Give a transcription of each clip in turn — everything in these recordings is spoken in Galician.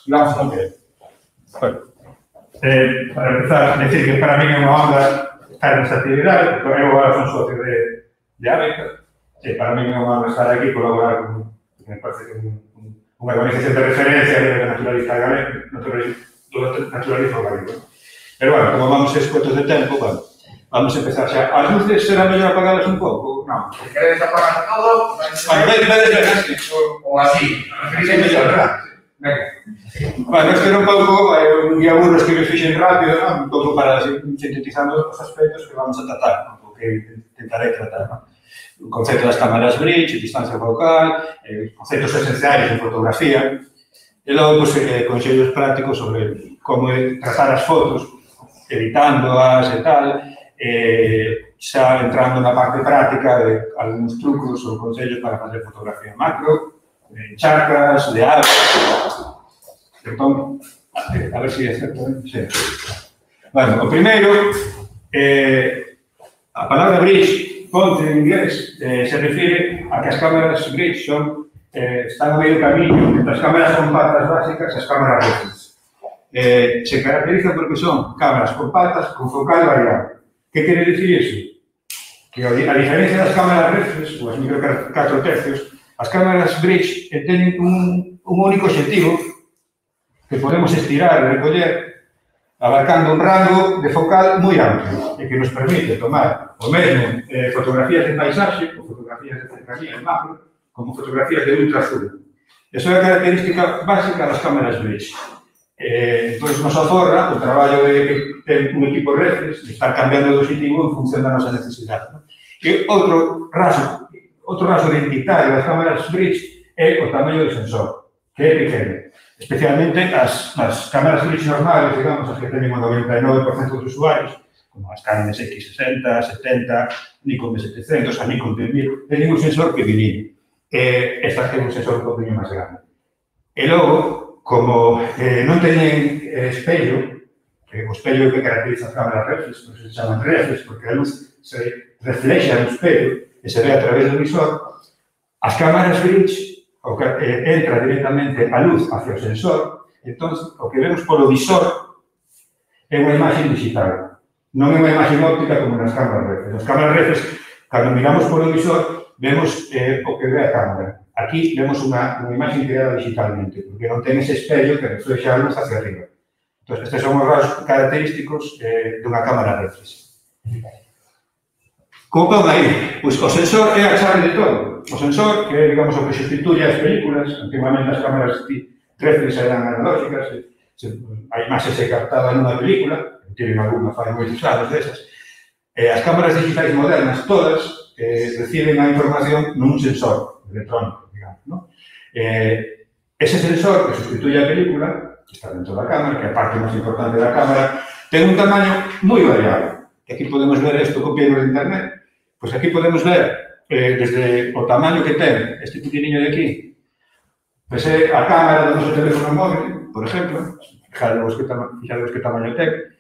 Digamos como que. Bueno, para empezar, decir que para mí é unha honra estar nesta actividade, porque eu agora son socio de ABECA, e para mí é unha honra estar aquí e colaborar con, me parece que unha organización de referencia de naturalista galego, naturalismo galego. Pero, bueno, como vamos escuetos de tempo, bueno, vamos a empezar xa. As luces será mellor apagadas un pouco? Non. Se queredes apagar todo, ou así. É mellor, verdad? Venga. Bueno, este era un pouco un guía burros que me fixen rápido, un pouco para sintetizando os aspectos que vamos a tratar, o que intentaré tratar, non? O concepto das cámaras bridge, distancia focal, conceptos esenciais de fotografía, e logo, consellos prácticos sobre como trazar as fotos, editándoas e tal, xa entrando na parte práctica de algúns trucos ou consellos para facer fotografía macro, de charcas, de aves. Entón, a ver se é certo, sí. Bueno, o primeiro, a palabra bridge, ponte en inglés, se refire a que as cámaras bridge están a medio camiño entre as cámaras compactas básicas e as cámaras reflex. Se caracterizan porque son cámaras compactas con focal variable. Que quere dicir iso? Que a diferencia das cámaras reflex, ou as micro 4 tercios, as cámaras bridge teñen un único objetivo que podemos estirar e recoller abarcando un rango de focal moi amplo e que nos permite tomar o mesmo fotografías de paisaxe ou fotografías de cercanía en macro como fotografías de ultraazul. Esa é a característica básica das cámaras bridge. Entón, nos aforra o traballo de ter un equipo reflex, de estar cambiando de objetivo en función da nosa necesidade. E outro raso identitario das cámaras bridge é o tamaño do sensor, que é pequeno. Especialmente as cámaras bridge normales, digamos, as que teñen o 99% dos usuarios, como as Canon X60, 70, Nikon D700, a Nikon D1000, teñen un sensor pequenino. Estas teñen un sensor un poquinho máis grande. E logo, como non teñen espello, o espello que caracteriza as cámaras reflex, se chaman reflex, porque a luz se reflexa no espello e se ve a través do visor, as cámaras bridge entra directamente a luz hacia o sensor, entón, o que vemos polo visor é unha imaxe digital, non é unha imaxe óptica como nas cámaras reflex. Nas cámaras reflex, cando miramos polo visor, vemos o que ve a cámara. Aquí vemos unha imaxe creada digitalmente, porque non ten ese espello que reflexa a luz hacia arriba. Entón, estes son os rasgos característicos dunha cámara reflex. Como pon aí? Pois o sensor é a chave de todo. O sensor, que é, digamos, o que sustituye as películas, antigamente as cámaras reflex eran analógicas, a imaxe se captaba nunha película, tienen algunha fai moitos anos desas. As cámaras digitais modernas, todas, reciben a información nun sensor electrónico, digamos, ¿no? Ese sensor que sustituye a película, que está dentro da cámara, que é a parte máis importante da cámara, ten un tamaño moi variable. Aquí podemos ver isto copiado de internet. Pois aquí podemos ver desde o tamaño que ten este pequeniño de aquí, pois é a cámara do noso teléfono móvil, por exemplo, fixadevos que tamaño ten.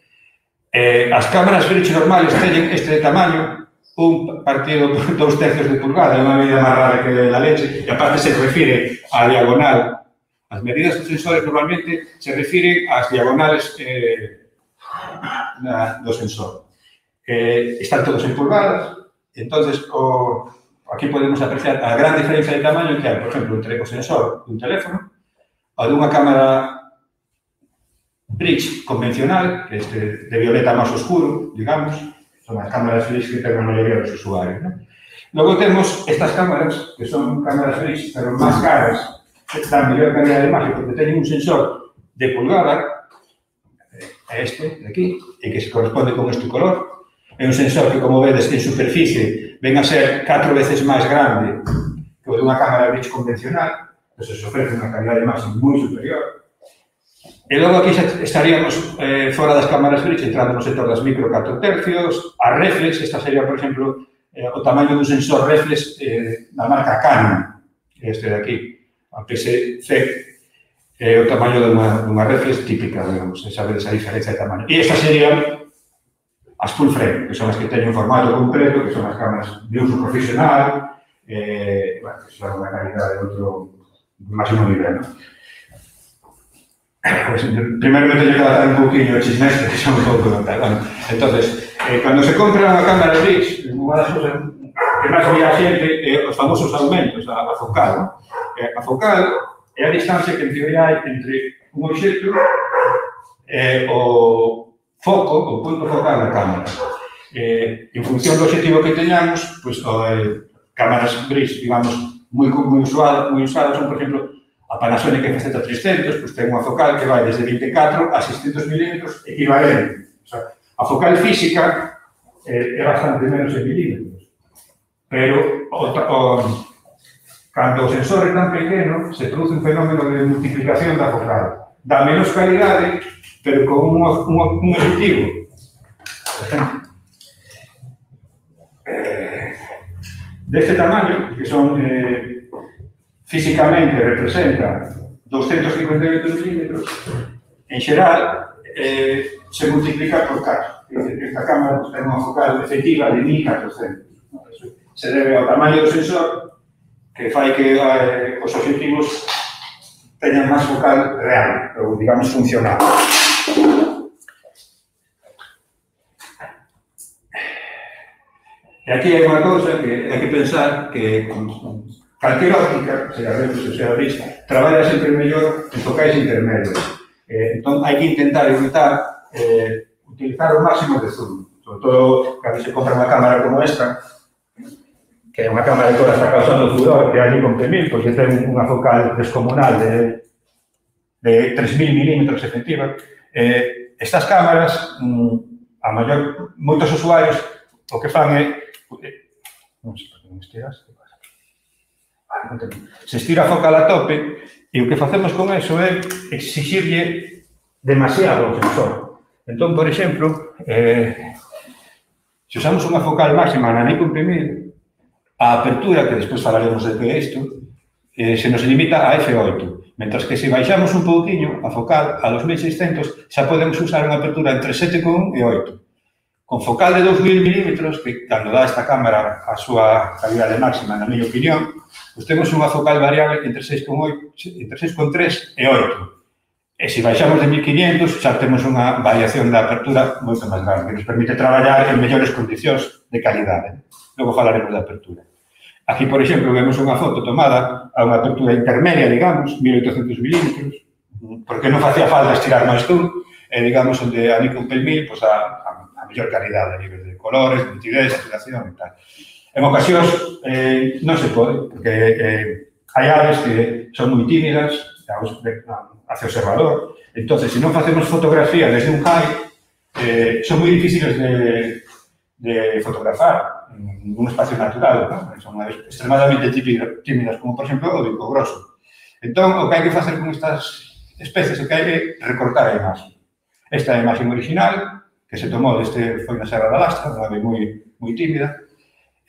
As cámaras bridge normales teñen este tamaño, un partido 2 tercios de pulgada, é unha medida máis rara que a leche, e aparte se refire á diagonal. As medidas dos sensores normalmente se refiren ás diagonales do sensor. Están todos en pulgadas. Entonces, aquí podemos apreciar a gran diferencia de tamaño que hai, por exemplo, entre o sensor dun teléfono ou dunha cámara bridge convencional, que é de violeta máis oscuro, digamos, son as cámaras bridge que ten a maioría dos usuarios, ¿no? Logo temos estas cámaras, que son cámaras bridge, pero máis caras, que dan mellor calidad de imaxe, porque teñen un sensor de pulgada, este de aquí, e que se corresponde con este color. É un sensor que, como vedes, en superficie ven a ser 4 veces máis grande que o dunha cámara bridge convencional, entón se ofrece unha calidad de imaxe moi superior. E logo aquí estaríamos fora das cámaras bridge, entrando no sector das micro 4 tercios, a reflex, esta sería, por exemplo, o tamaño dun sensor reflex da marca Canon, este de aquí, a PSC, é o tamaño dunha reflex típica, digamos, sabedes a diferencia de tamaño. E esta sería as full frame, que son as que teñen un formato completo, que son as cámaras de uso profesional, bueno, que son unha calidad de outro máximo nivel, ¿no? Pues, primeiro me teño que adaptar un pouquinho o chismestre, que son un pouco de tal. Bueno, entonces, cando se compra unha cámara Brix, unha das cousas que máis ve a xente é os famosos aumentos, a focal. ¿No? A focal é a distancia que en teoría hai entre un obxecto e o foco, o punto focal da cámara. En función do objetivo que teñamos, pues, cámaras Brix, digamos, moi usadas son, por exemplo, a Panasonic FZ300, pues, ten unha focal que vai desde 24 a 600 milímetros equivalente. O sea, a focal física é bastante menos en milímetros. Pero cando o sensor é tan pequeno, se produce un fenómeno de multiplicación da focal. Dá menos calidade, pero con un objetivo. Por exemplo, deste tamaño, que son físicamente representa 258 milímetros, en xeral se multiplica por 4. Esta cámara ten unha focal efectiva de 1400. Se debe ao tamaño do sensor que fai que os objetivos teñan máis focal real, ou digamos funcional. E aquí hai unha cousa que hai que pensar que calquera óptica, sea Reflex ou sea Brix, traballa sempre mellor en focais intermedios. Entón, hai que intentar evitar utilizar o máximo de zoom. Sobre todo, cando se compra unha cámara como esta, que é unha cámara que agora está causando furor, que é a Nikon P1000, porque ten unha focal descomunal de 3.000 milímetros efectiva. Estas cámaras, moitos usuarios, o que fan é non sei por que non estiras, se estira a focal a tope e o que facemos con eso é exixirlle demasiado ao sensor. Entón, por exemplo, se usamos unha focal máxima na Nikon P1000, a apertura, que despois falaremos de que é isto, se nos limita a f8, mentras que se baixamos un pouquinho a focal a 2600 xa podemos usar unha apertura entre 7,1 e 8. Con focal de 2000 milímetros, que cando dá esta cámara a súa calidade máxima, na miña opinión, pues temos unha focal variable entre 6,3 e 8. E se baixamos de 1500, xa temos unha variación da apertura moito máis grande, que nos permite traballar en mellores condicións de calidade. Logo falaremos da apertura. Aquí, por exemplo, vemos unha foto tomada a unha apertura intermedia, digamos, 1800 milímetros, porque non facía falta estirar máis zoom, e digamos, onde a Nikon P1000, pues a mellor calidade a nivel de colores, de nitidez, saturación e tal. En ocasións non se pode, porque hai aves que son moi tímidas hacia o observador. Entón, se non facemos fotografía desde un high, son moi difíciles de fotografar en un espacio natural. Son extremadamente tímidas, como, por exemplo, o bico grosso. Entón, o que hai que facer con estas especies é que hai que recortar a imaxe. Esta é a imaxe original, que se tomou foi na Serra da Lastra, unha ave moi tímida.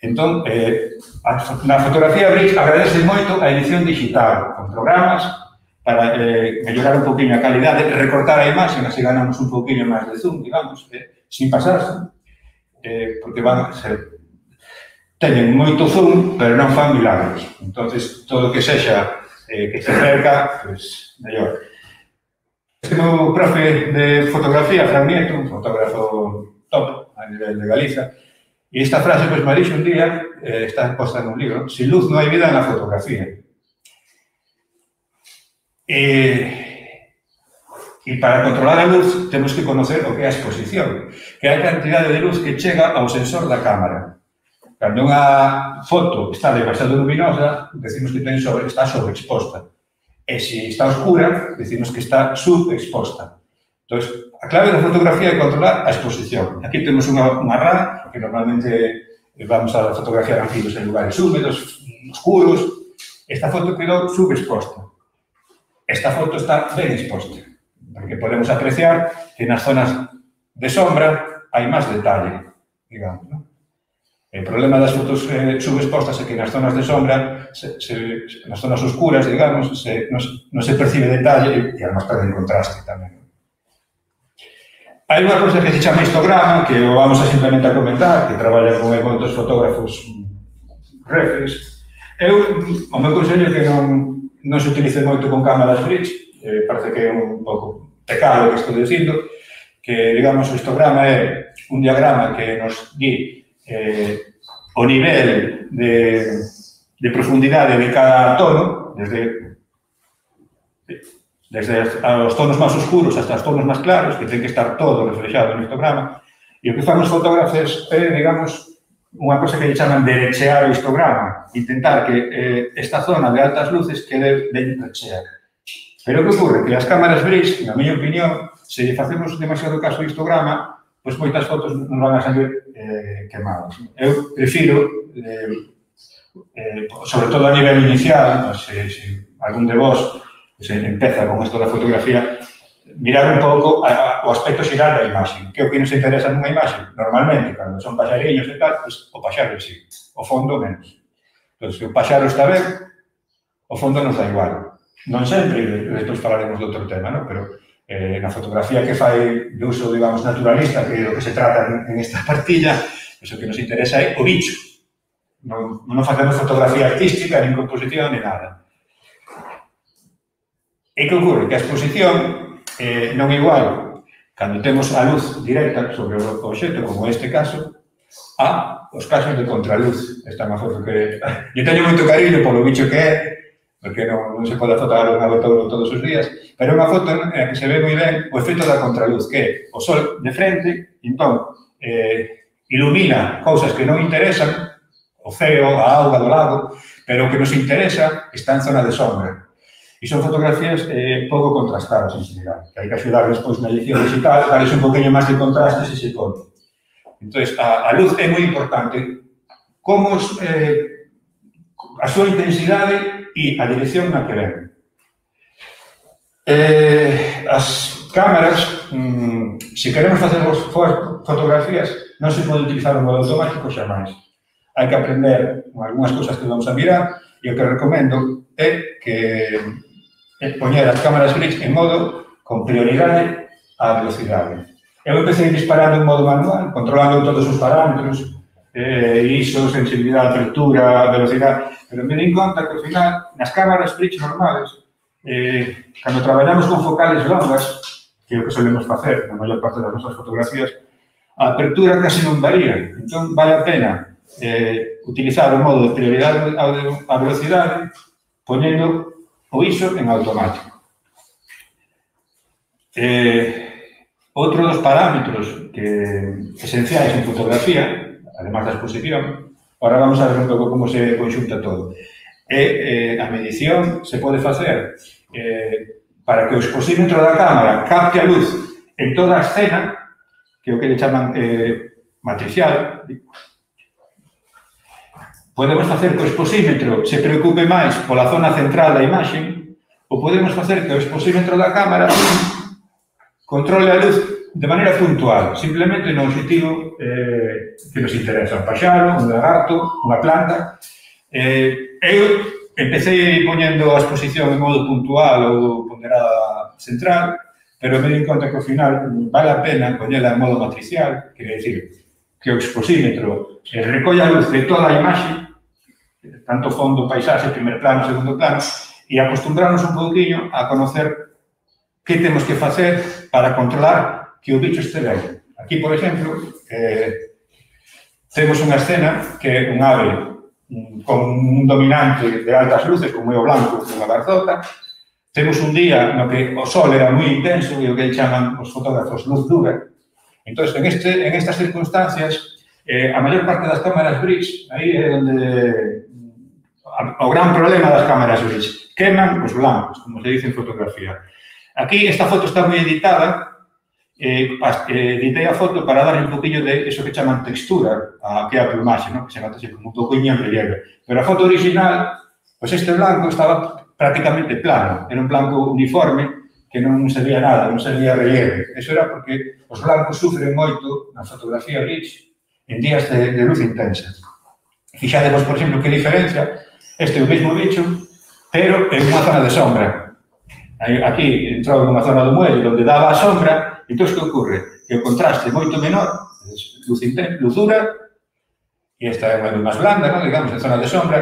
Entón, na fotografía Brix agradece moito a edición digital, con programas para mellorar un pouquinho a calidade, recortar a imaxe, así ganamos un pouquinho máis de zoom, digamos, sin pasarse, porque teñen moito zoom, pero non fan milagros. Entón, todo o que sexa que se acerca, pues, mellor. Este meu profe de fotografía, Fran Nieto, un fotógrafo top a nivel de Galiza, e esta frase pues, me dixo un día, está posta en un libro: sin luz non hai vida na fotografía. E para controlar a luz temos que conocer o que é a exposición, que é a cantidade de luz que chega ao sensor da cámara. Cando unha foto está demasiado luminosa, decimos que está sobreexposta. E se está oscura, decimos que está subexposta. Entón, a clave da fotografía é controlar a exposición. Aquí temos unha RAW, que normalmente vamos a fotografiar anfibios en lugares húmedos, oscuros. Esta foto quedou subexposta. Esta foto está ben exposta, porque podemos apreciar que nas zonas de sombra hai máis detalle, digamos, non? O problema das fotos subexpostas é que nas zonas de sombra, nas zonas oscuras, digamos, non se percibe detalle e además perde contraste tamén. Hai unha cousa que se chama histograma, que o vamos a simplemente a comentar, que traballa con moitos fotógrafos reflex. O meu consello é que non se utilice moito con cámaras Brix, parece que é un pouco pecado que estou dicindo, que, digamos, o histograma é un diagrama que nos di o nivel de profundidade de cada tono, desde os tonos máis oscuros hasta os tonos máis claros, que ten que estar todo reflexado no histograma, e o que fan os fotógrafos é, digamos, unha cosa que lle chaman derechear o histograma, intentar que esta zona de altas luces quede ben recheada. Pero o que ocorre? Que as cámaras Bridge, na miña opinión, se lle facemos demasiado caso ao histograma, pois moitas fotos non van a salir quemadas. Eu prefiro, sobre todo a nivel inicial, se algún de vos se empeza con isto da fotografía, mirar un pouco o aspecto xeral da imaxe. Que é o que nos interesa nunha imaxe? Normalmente, cando son paxariños e tal, pues, o paxaro sí, o fondo menos. Entón, se o paxaro está ben, o fondo nos dá igual. Non sempre, despois falaremos de outro tema, ¿no? Pero na fotografía que fai de uso, digamos, naturalista, que é o que se trata en esta partilla, pues, o que nos interesa é o bicho. Non facemos fotografía artística, nin composición, nin nada. E que ocorre? Que a exposición non é igual cando temos a luz directa sobre o obxecto, como este caso, a os casos de contraluz. Esta é unha foto que eu teño moito cariño polo bicho que é, porque non se pode fotar un abotouro todos os días, pero é unha foto en que se ve moi ben o efecto da contraluz, que é o sol de frente, entón, ilumina cousas que non interesan, o ceo, a auga do lago, pero o que nos interesa está en zona de sombra. E son fotografías pouco contrastadas en general, que hai que axudar despois na edición digital, darles un poquinho máis de contraste se se pode. Entón, a luz é moi importante. Como a súa intensidade e a dirección na que ven. As cámaras, se queremos facer fotografías, non se pode utilizar un modo automático xa máis. Hai que aprender algunhas cousas que vamos a mirar e o que recomendo é que poñer as cámaras Bridge en modo con prioridade á velocidade. Eu empecé disparando en modo manual, controlando todos os parámetros, ISO, sensibilidade, apertura, velocidade, pero me di conta que ao final, nas cámaras Bridge normales, cando traballamos con focales longas, que é o que solemos facer na maior parte das nosas fotografías, a apertura casi non varía. Entón, vale a pena utilizar o modo de prioridade á velocidade poñendo o ISO en automático. Outro dos parámetros esenciais en fotografía, además da exposición, ahora vamos a ver un pouco como se conxunta todo, a medición se pode facer para que o exposímetro da cámara capte a luz en toda a escena, que é o que le chaman matricial. Podemos facer que o exposímetro se preocupe máis pola zona central da imaxe, ou podemos facer que o exposímetro da cámara controle a luz de maneira puntual, simplemente no objetivo que nos interesa, un paxaro, un lagarto, unha planta. Eu empecé poñendo a exposición en modo puntual ou ponderada central, pero me di conta que ao final vale a pena poñela en modo matricial, quere dicir que o exposímetro recolle a luz de toda a imaxe, tanto fondo, paisaxe, primer plano, segundo plano, e acostumbrarnos un pouquinho a conocer que temos que facer para controlar que o bicho este ben. Aquí, por exemplo, temos unha escena que é un ave con un dominante de altas luces, como é o blanco dunha garzota. Temos un día no que o sol era moi intenso e o que chaman os fotógrafos luz dura. Entón, en estas circunstancias, a maior parte das cámaras Bridge, aí é onde o gran problema das cámaras Bridge, queman os blancos, como se dice en fotografía. Aquí esta foto está moi editada, editei a foto para darle un poquinho de eso que chaman textura, que é a plumaxe, que se nota como un poquinho en relieve. Pero a foto original, pois este blanco estaba prácticamente plano, era un blanco uniforme que non se veía nada, non se veía relieve. Eso era porque os blancos sufren moito na fotografía Bridge en días de luz intensa. Fixadevos, por exemplo, que diferencia, este é o mesmo bicho, pero en unha zona de sombra. Aquí entrou nunha zona do muelle onde daba a sombra, entón, que ocorre? Que o contraste é moito menor, luz dura, e esta é unha luz máis blanda, digamos, en zona de sombra,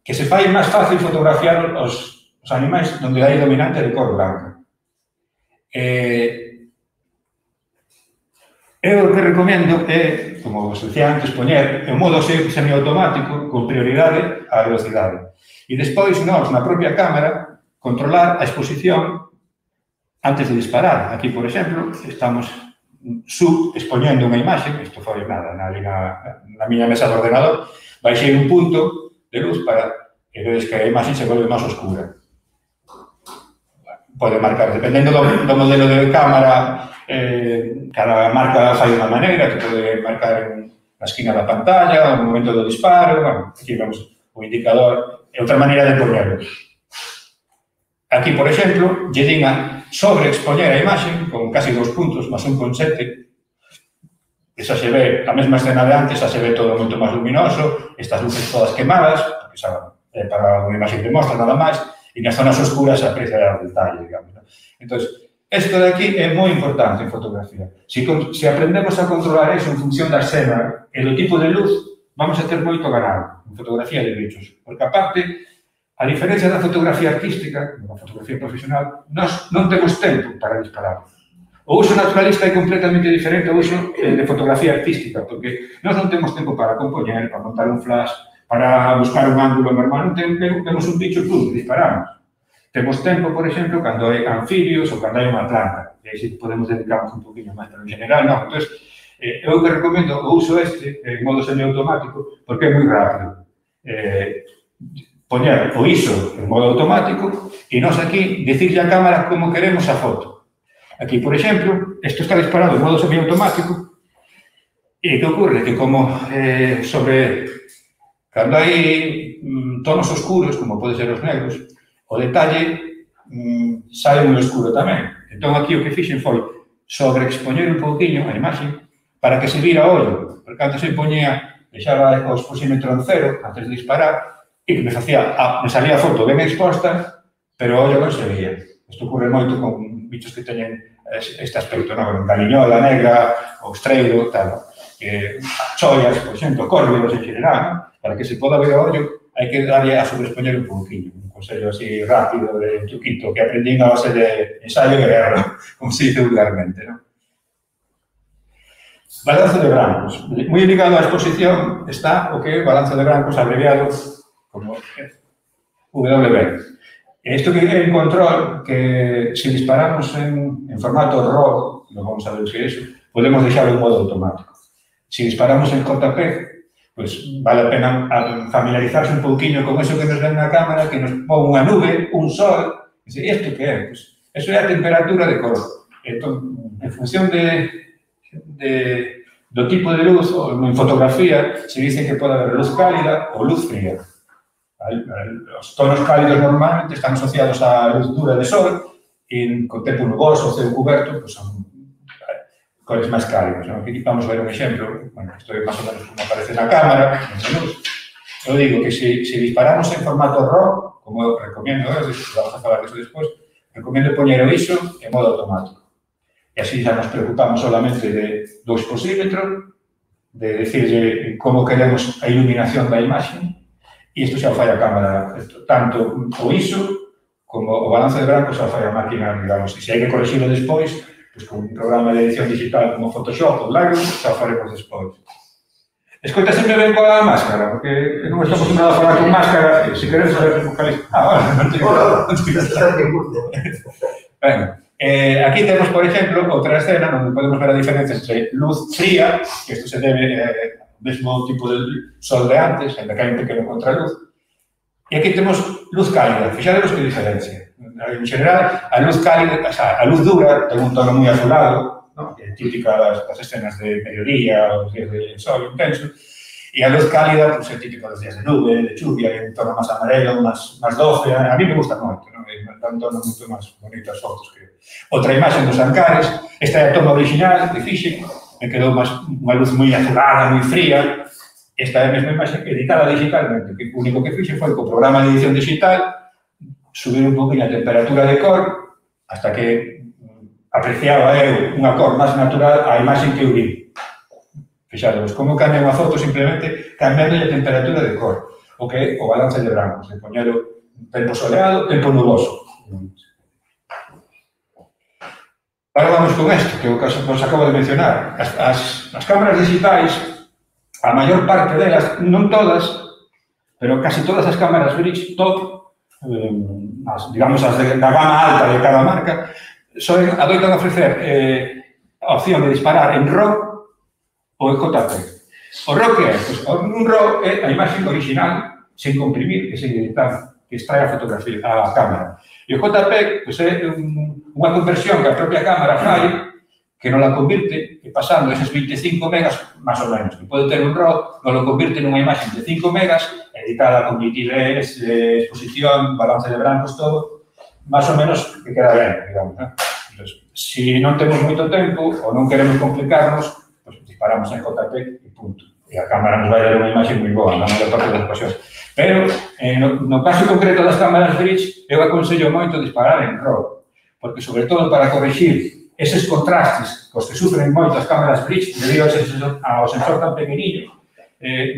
que se fai máis fácil fotografiar os animais onde hai dominante de cor blanca. Eu o que recomendo é, como vos decía antes, poñer en modo semiautomático con prioridade á velocidade. E despois, nós, na propia cámara, controlar a exposición antes de disparar. Aquí, por exemplo, estamos expoñendo unha imaxe, isto foi nada, na miña mesa de ordenador, baixei un punto de luz para que vedes que a imaxe se volve máis oscura. Pode marcar, dependendo do modelo de cámara, cada marca fai unha maneira, que pode marcar na esquina da pantalla, no momento do disparo, bueno, aquí vemos o indicador, é outra maneira de poñerlo. Aquí, por exemplo, lle din a sobreexpoñer a imaxe con casi 2 puntos, máis 1,7. Esa se ve, a mesma escena de antes, xa se ve todo moito máis luminoso, estas luces todas quemadas, porque xa é para unha imaxe que mostra nada máis, e nas zonas oscuras se aprecia o detalle, digamos. Entón, isto de aquí é moi importante en fotografía. Se aprendemos a controlar eso en función da escena e do tipo de luz, vamos a ter moito ganado en fotografía de bichos. Porque, aparte, a diferencia da fotografía artística, da fotografía profesional, nós non temos tempo para disparar. O uso naturalista é completamente diferente ao uso de fotografía artística, porque nós non temos tempo para compoñer, para montar un flash, para buscar un ángulo normal, non temos un bicho, pum, disparamos. Temos tempo, por exemplo, cando hai anfibios ou cando hai unha planta. E aí sí podemos dedicarnos un poquinho máis, pero en general non. Entón, eu que recomendo o uso en modo semiautomático porque é moi rápido. Poñer o ISO en modo automático e nós aquí dicirle á cámara como queremos a foto. Aquí, por exemplo, isto está disparado en modo semiautomático e que ocorre que como cando hai tonos oscuros, como pode ser os negros, o detalle sai moi escuro tamén. Entón, aquí o que fixen foi sobreexpoñer un pouquinho a imaxe para que se vira o ollo. Porque antes se poñía, deixaba o exposímetro en cero antes de disparar e que me salía a foto ben exposta, pero o ollo non se veía. Isto ocorre moito con bichos que teñen este aspecto, non? Galiñola negra, ostreiro, tal. Choias, por exemplo, córvidos en general, non? Para que se poda ver o ollo, hai que darlle a sobreexpoñer un pouquinho. Un consello así rápido, de truquito, que aprendí a base de ensayo e erro, como se dice vulgarmente, non? Balance de brancos. Moi ligado á exposición está o que é o balance de brancos abreviado como WB. Isto que é un control que, se disparamos en formato RAW, non vamos a ver o que é iso, podemos deixarlo en modo automático. Se disparamos en JPEG, pois vale a pena familiarizarse un pouquinho con eso que nos ven na cámara, que nos pon unha nube, un sol, e dice, isto que é? Pois, eso é a temperatura de cor. Entón, en función do tipo de luz, en fotografía, se dice que pode haber luz cálida ou luz fría. Os tonos cálidos normalmente están asociados á luz dura de sol e con tempo nuboso ou ceo cuberto, pois son cores máis cálidas. Aquí vamos ver un exemplo, bueno, isto é máis ou menos como aparece na cámara, eu digo que se disparamos en formato RAW, como eu recomiendo, vamos a falar disso despois, recomiendo poñer o ISO en modo automático. E así xa nos preocupamos solamente do exposímetro, de decirle como queremos a iluminación da imaxe, e isto xa o fai a cámara, tanto o ISO como o balance de brancos xa o fai a máquina, digamos, e se hai que corregirlo despois, pois con un programa de edición digital como Photoshop ou Lightroom, xa o faremos despois. Escoita sempre ben coa máscara, porque non estamos acostumbrados a falar con máscara, e se queremos saber que vocaliza... non tengo nada. Bueno, aquí temos, por exemplo, outra escena onde podemos ver a diferencia entre luz fría, que isto se debe ao mesmo tipo de sol de antes, ainda que hai un pequeno contraluz, e aquí temos luz cálida. Fixademos que diferencia. En general, a luz cálida, o sea, a luz dura ten un tono moi azulado, ¿no? Que é típica das escenas de mediodía ou dos días de sol intenso, e a luz cálida pues, é típica dos días de nube, de chuvia, é un tono máis amarelo, máis doce. A mí me gusta moito, ¿no? É un tono moito máis bonito as fotos que... Outra imaxe dos Ancares, esta é a toma original que fixen, me quedou unha luz moi azulada, moi fría. Esta é a mesma imaxe editada digitalmente, que o único que fixen foi co programa de edición digital subir un poquinho a temperatura de cor hasta que apreciaba eu unha cor máis natural á imaxe que eu vi. Fixaros, como cambia unha foto simplemente cambiando a temperatura de cor, o que é o balance de brancos, de poñer o tempo soleado, tempo nuboso. Ahora vamos con isto, que é o que os acabo de mencionar. As cámaras digitais, a maior parte delas, non todas, pero casi todas as cámaras bridge top, digamos as da gama alta de cada marca, adoitan ofrecer a opción de disparar en RAW ou en JPEG. O RAW que é? Un RAW é a imaxe original, sen comprimir e sen editar, que extrae a fotografía, a cámara. E o JPEG é unha conversión que a propia cámara fai, que non la convirte, e pasando eses 25 megas, máis ou menos, que pode ter un RAW, non lo convirte nunha imaxe de 5 megas, editada con nitidez, exposición, balance de brancos, todo, máis ou menos que queda ben, digamos. Entón, se non temos moito tempo ou non queremos complicarnos, pues disparamos en JPEG e punto. E a cámara nos vai dar unha imaxe moi boa, na maior parte das ocasións. Pero, no caso concreto das cámaras bridge, eu aconsello moito disparar en RAW, porque, sobre todo, para corrixir eses contrastes cos que sufren moito as cámaras bridge, debido ao sensor tan pequeniño,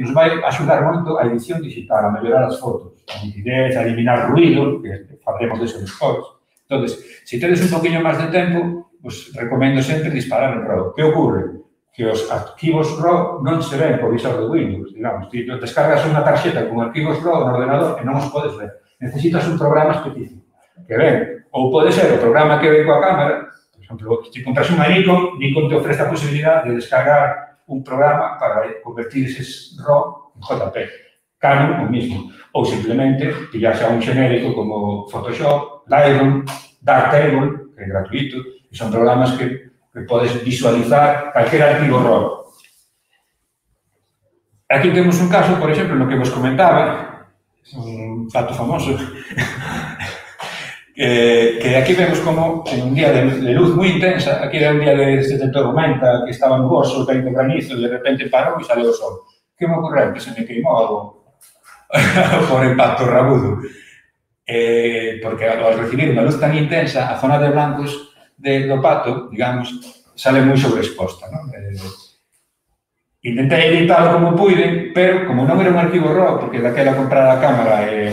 nos vai axudar moito a edición digital, a mellorar as fotos, a nitidez, a eliminar ruido, que fabremos deso despois. Entón, se tedes un poquinho máis de tempo, pues recomendo sempre disparar en RAW. Que ocorre? Que os arquivos RAW non se ven por visor de Windows, digamos. Ti descargas unha tarxeta con arquivos RAW no ordenador e non os podes ver. Necesitas un programa específico que ven. Ou pode ser o programa que ven coa cámara. Por exemplo, se compras unha Nikon te ofrece a posibilidad de descargar un programa para convertir eses RAW en JPEG. Canon, o mismo. Ou simplemente pillarse a un xenérico como Photoshop, Lightroom, Darktable, que é gratuito, e son programas que podes visualizar calquer arquivo RAW. Aquí temos un caso, por exemplo, no que vos comentaba, un fato famoso, que aquí vemos como en un día de luz moi intensa, aquí era un día de tormenta, que estaba nuboso, caído granizo, de repente parou e sale o sol. Que me ocorreu? Que se me queimou por impacto rabudo. Porque ao recibir unha luz tan intensa, a zona de blancos do pato, digamos, sale moi sobreexposta, non? Intentei editalo como puiden, pero como non era un arquivo RAW, porque daquela comprar a cámara e,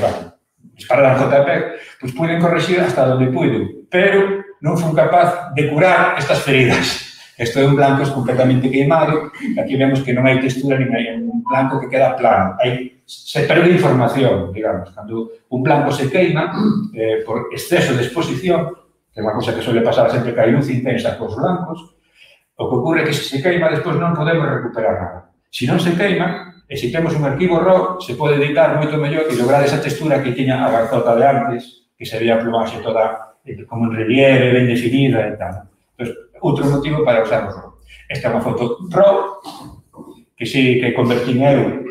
disparar a JPEG, pois puiden correxir hasta onde puiden, pero non fui capaz de curar estas feridas. Isto é un blanco completamente queimado, aquí vemos que non hai textura, nin hai un blanco que queda plano. Se perde información, digamos, cando un blanco se queima por exceso de exposición, que é unha cosa que suele pasar sempre que hai luz intensa cos blancos, o que ocorre é que se se queima, despois non podemos recuperar nada. Se non se queima, e se temos un arquivo RAW, se pode editar moito mellor e lograr esa textura que tiña a garzota de antes, que sería a plumaxe toda como en relieve, ben definida e tal. Entón, outro motivo para usar o RAW. Esta é unha foto RAW, que sí que convertín eu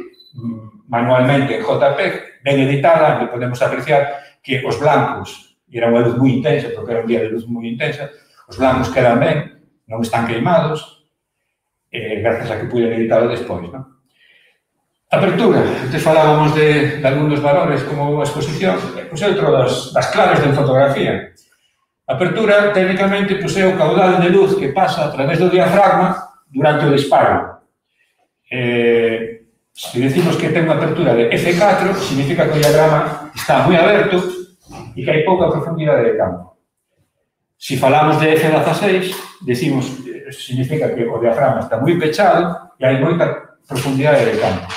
manualmente en JPEG, ben editada, onde podemos apreciar que os blancos, e era unha luz moi intensa, porque era un día de luz moi intensa, os blancos quedan ben, non están queimados, gracias a que puiden editarlo despois, non? Apertura. Antes falábamos de algúns valores como a exposición, pois é outro das claves de fotografía. Apertura, técnicamente, pois é o caudal de luz que pasa a través do diafragma durante o disparo. Se decimos que ten unha apertura de F4, significa que o diagrama está moi aberto e que hai pouca profundidade de campo. Se falamos de F16, decimos, significa que o diafragma está moi pechado e hai moita profundidade de campo.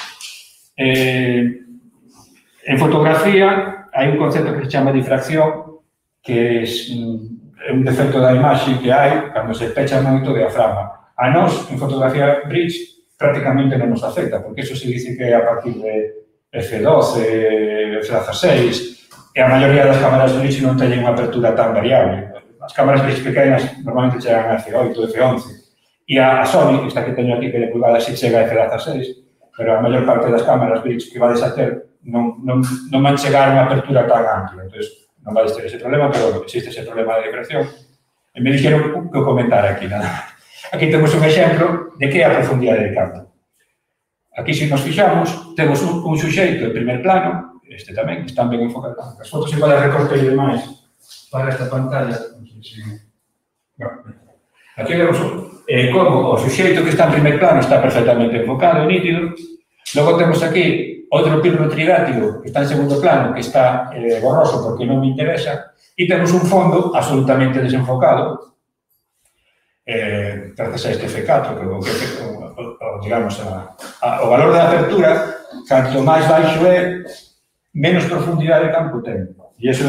En fotografía hai un concepto que se chama difracción, que é un defecto da imaxe que hai cando se pecha moito o diafragma. A nós, en fotografía bridge, prácticamente non nos afecta, porque eso se dice que é a partir de F12, F16, e a maioría das cámaras bridge non teñen unha apertura tan variable. As cámaras bridge pequenas normalmente chegan a F8, F11, e a Sony, esta que teño aquí, que de pulgada, se chega a F16, pero a maior parte das cámaras bridge que vades a ter non van chegar a unha apertura tan ampla. Entón, non vades ter ese problema, pero existe ese problema de difracción. E me dixeron que o comentar aquí, nada. Aquí temos un exemplo de que é a profundidade de campo. Aquí, se nos fixamos, temos un suxeito en primer plano, este tamén, están ben enfocados. As fotos igual as recortei demais para esta pantalla. Aquí vemos como o suxeito que está en primer plano está perfectamente enfocado e nítido. Logo temos aquí outro pirro tridátilo que está en segundo plano, que está borroso porque non me interesa. E temos un fondo absolutamente desenfocado, gracias a este F4, que digamos, o valor de apertura, canto máis baixo é, menos profundidade de campo ten. E iso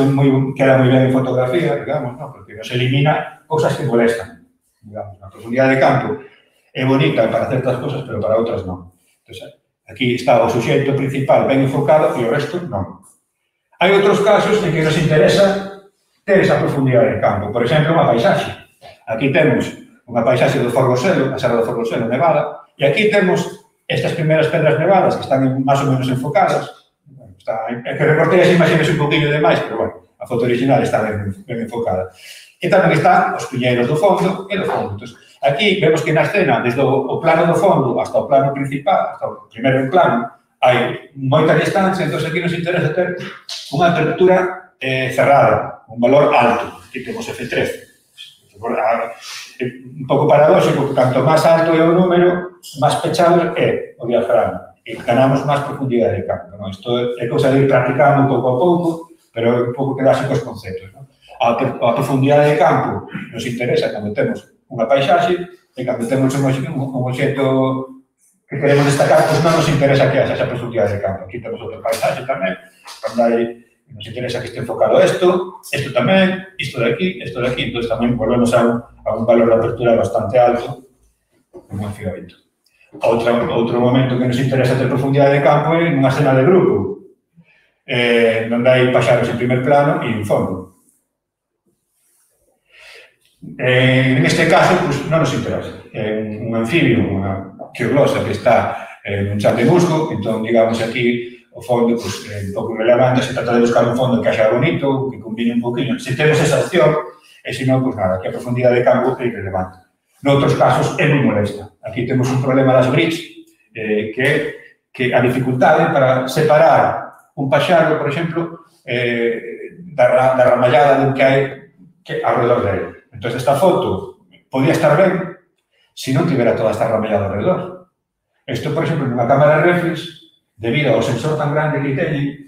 queda moi ben en fotografía, digamos, ¿no? Porque nos elimina cousas que molestan. Digamos, a profundidade de campo é bonita para certas cosas, pero para outras non. Entón, aquí está o suxeito principal ben enfocado e o resto non. Hai outros casos en que nos interesa ter esa profundidade de campo. Por exemplo, unha paisaxe. Aquí temos unha paisaxe do Forgoselo, a Serra do Forgoselo nevada, e aquí temos estas primeiras pedras nevadas que están máis ou menos enfocadas. É que recortei as imaxes un poquinho demais, pero, bueno, a foto original está ben enfocada. E tamén están os piñeiros do fondo e do fondo. Entón, aquí vemos que na escena, desde o plano do fondo hasta o plano principal, hasta o primeiro plano, hai moita distancia, entón aquí nos interesa ter unha apertura cerrada, un valor alto. Aquí temos F13. Un pouco paradóxico, porque canto máis alto é o número, máis pechado é o diafragma. E ganamos máis profundidade de campo. ¿No? Isto é cousa de ir practicando pouco a pouco, pero un pouco quedarse cos conceptos. ¿No? A profundidade de campo nos interesa cando temos unha paisaxe e cando temos un obxecto que queremos destacar, pois non nos interesa que haxa esa profundidade de campo. Aquí temos outro paisaxe tamén, onde nos interesa que este enfocado isto tamén, isto de aquí, entón tamén volvemos a un valor de apertura bastante alto, como un filamento. Outro momento que nos interesa ter profundidade de campo é nunha escena de grupo, onde hai paxaros en primer plano e en fondo. En este caso, pues, non nos interesa. Un anfibio, unha quioglosa que está en un chan de musgo, entón, digamos, aquí o fondo pues, é un pouco irrelevante, se trata de buscar un fondo que haxa bonito, que combine un poquinho. Se temos esa opción, e se non, pues nada, que a profundidade de campo é irrelevante. Noutros casos é moi molesta. Aquí temos un problema das bridge, que a dificultade para separar un paxaro, por exemplo, da ramallada do que hai alrededor dele. Entón, esta foto podía estar ben se non tivera toda esta ramallada alrededor. Isto, por exemplo, nunha cámara reflex, debido ao sensor tan grande que teñen,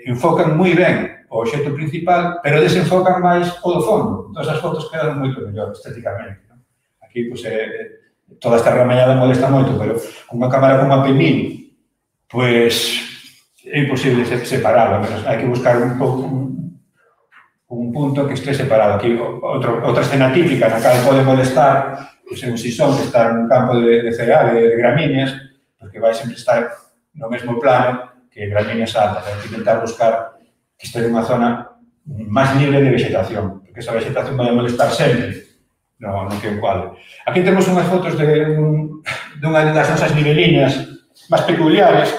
enfocan moi ben o obxecto principal, pero desenfocan máis o do fondo. Entón, as fotos quedan moito mellor estéticamente. Aquí, pois, toda esta ramallada molesta moito, pero con unha cámara como a P1000, pois, é imposible separarlo, menos hai que buscar un punto que este separado. Aquí, outra escena típica na cal pode molestar, pois, é un sisón que está nun campo de cereal, de gramíneas, porque vai sempre estar no mesmo plano que gramíneas altas. Hai que intentar buscar que este nunha zona máis libre de vegetación, porque esa vegetación vai molestar sempre no que un cuadro. Aquí temos unhas fotos dunha das nosas niveliñas máis peculiares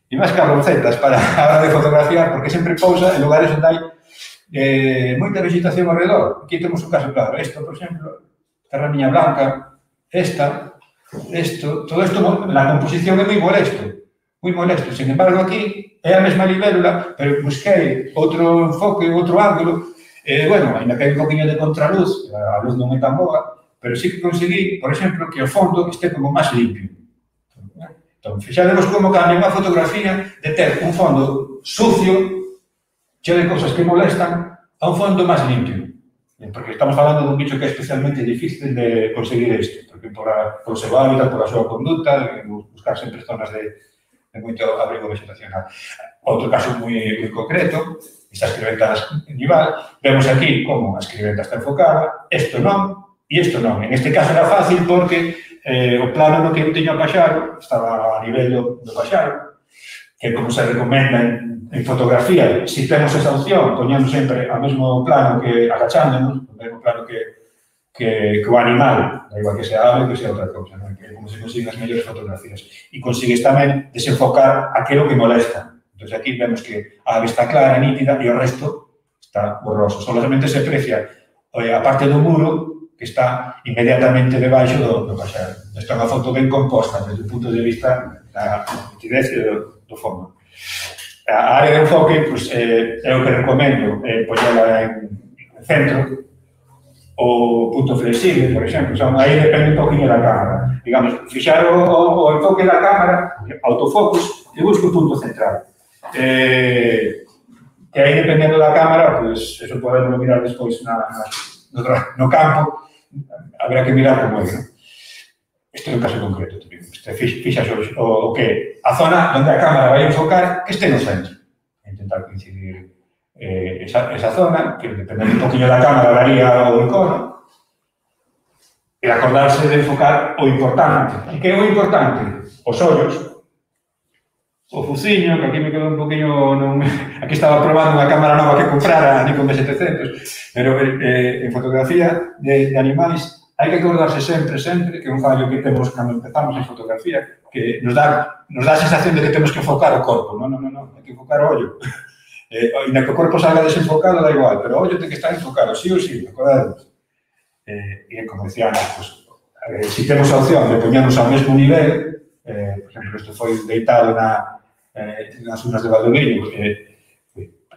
e máis cabroncetas para a hora de fotografiar, porque sempre pousa en lugares onde hai moita vegetación ao redor. Aquí temos un caso claro. Isto, por exemplo, esta ramiña blanca, todo isto, na composición é moi molesto. Sin embargo, aquí é a mesma libélula, pero busquei outro enfoque, outro ángulo. Bueno, ainda que hai un poquinho de contraluz, a luz non é tan boa, pero sí que conseguí, por exemplo, que o fondo este como máis limpio. Entón, fixademos como cambia unha fotografía de ter un fondo sucio, cheo de cousas que molestan, a un fondo máis limpio. Porque estamos falando dun bicho que é especialmente difícil de conseguir isto, porque por o seu hábitat, por a súa conduta, de buscar sempre zonas de moito abrigo vegetacional. Outro caso moi concreto, esta escriventa nival, vemos aquí como a escriventa está enfocada, isto non e isto non. En este caso era fácil porque o plano no que eu teño a paxaro estaba a nivel do paxaro, que como se recomenda en fotografía, se temos esa opción, poñemos sempre ao mesmo plano que agachándonos, o mesmo plano que o animal, da igual que sea ave, que sea outra cousa, non? Que como se consiguen as mellores fotografías. E consigues tamén desenfocar aquilo que molesta. Entón, aquí vemos que a ave está clara, nítida, e o resto está borroso. Solamente se aprecia a parte do muro que está inmediatamente debaixo do paxaro. Esta é unha foto ben composta desde o punto de vista da nitidez do fondo. A área de enfoque, pois, é o que recomendo, poñela en centro, o punto flexible, por exemplo, aí depende un poquinho da cámara. Digamos, fixar o enfoque da cámara, autofocus, e busco o punto central. Que aí, dependendo da cámara, pois, eso podemos mirar despois no campo, habrá que mirar como é, non? Isto é un caso concreto, fixas o que a zona onde a cámara vai enfocar que este no centro. Intentar coincidir esa zona, que depende un poquinho da cámara daría o icono, e acordarse de enfocar o importante. E que é o importante? Os ollos, o fuciño, que aquí me quedou un poquinho... Aquí estaba probando unha cámara nova que comprara, a Nikon D700, pero en fotografía de animais hai que acordarse sempre, que é un fallo que temos cando empezamos en fotografía, que nos dá a sensación de que temos que enfocar o corpo. Non, hai que enfocar o ollo. E na que o corpo salga desenfocado da igual, pero o ollo ten que estar enfocado, sí ou sí, acordademos. E como decíamos, pues, si temos a opción de poñernos ao mesmo nivel, por exemplo, isto foi deitado nas unas de Valdoviño,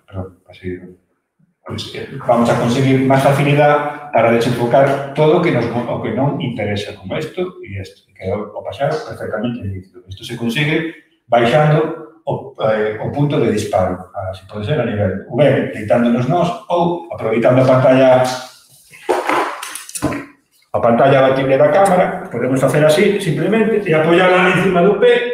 perdón, así, vamos a conseguir máis facilidade para desenfocar todo o que non interesa, como isto e isto, que é o paxaro perfectamente líquido. Isto se consigue baixando o punto de disparo, así pode ser a nivel ben deitándonos nós ou aproveitando a pantalla batible da cámara, podemos facer así, simplemente, e apoiarla encima do pé.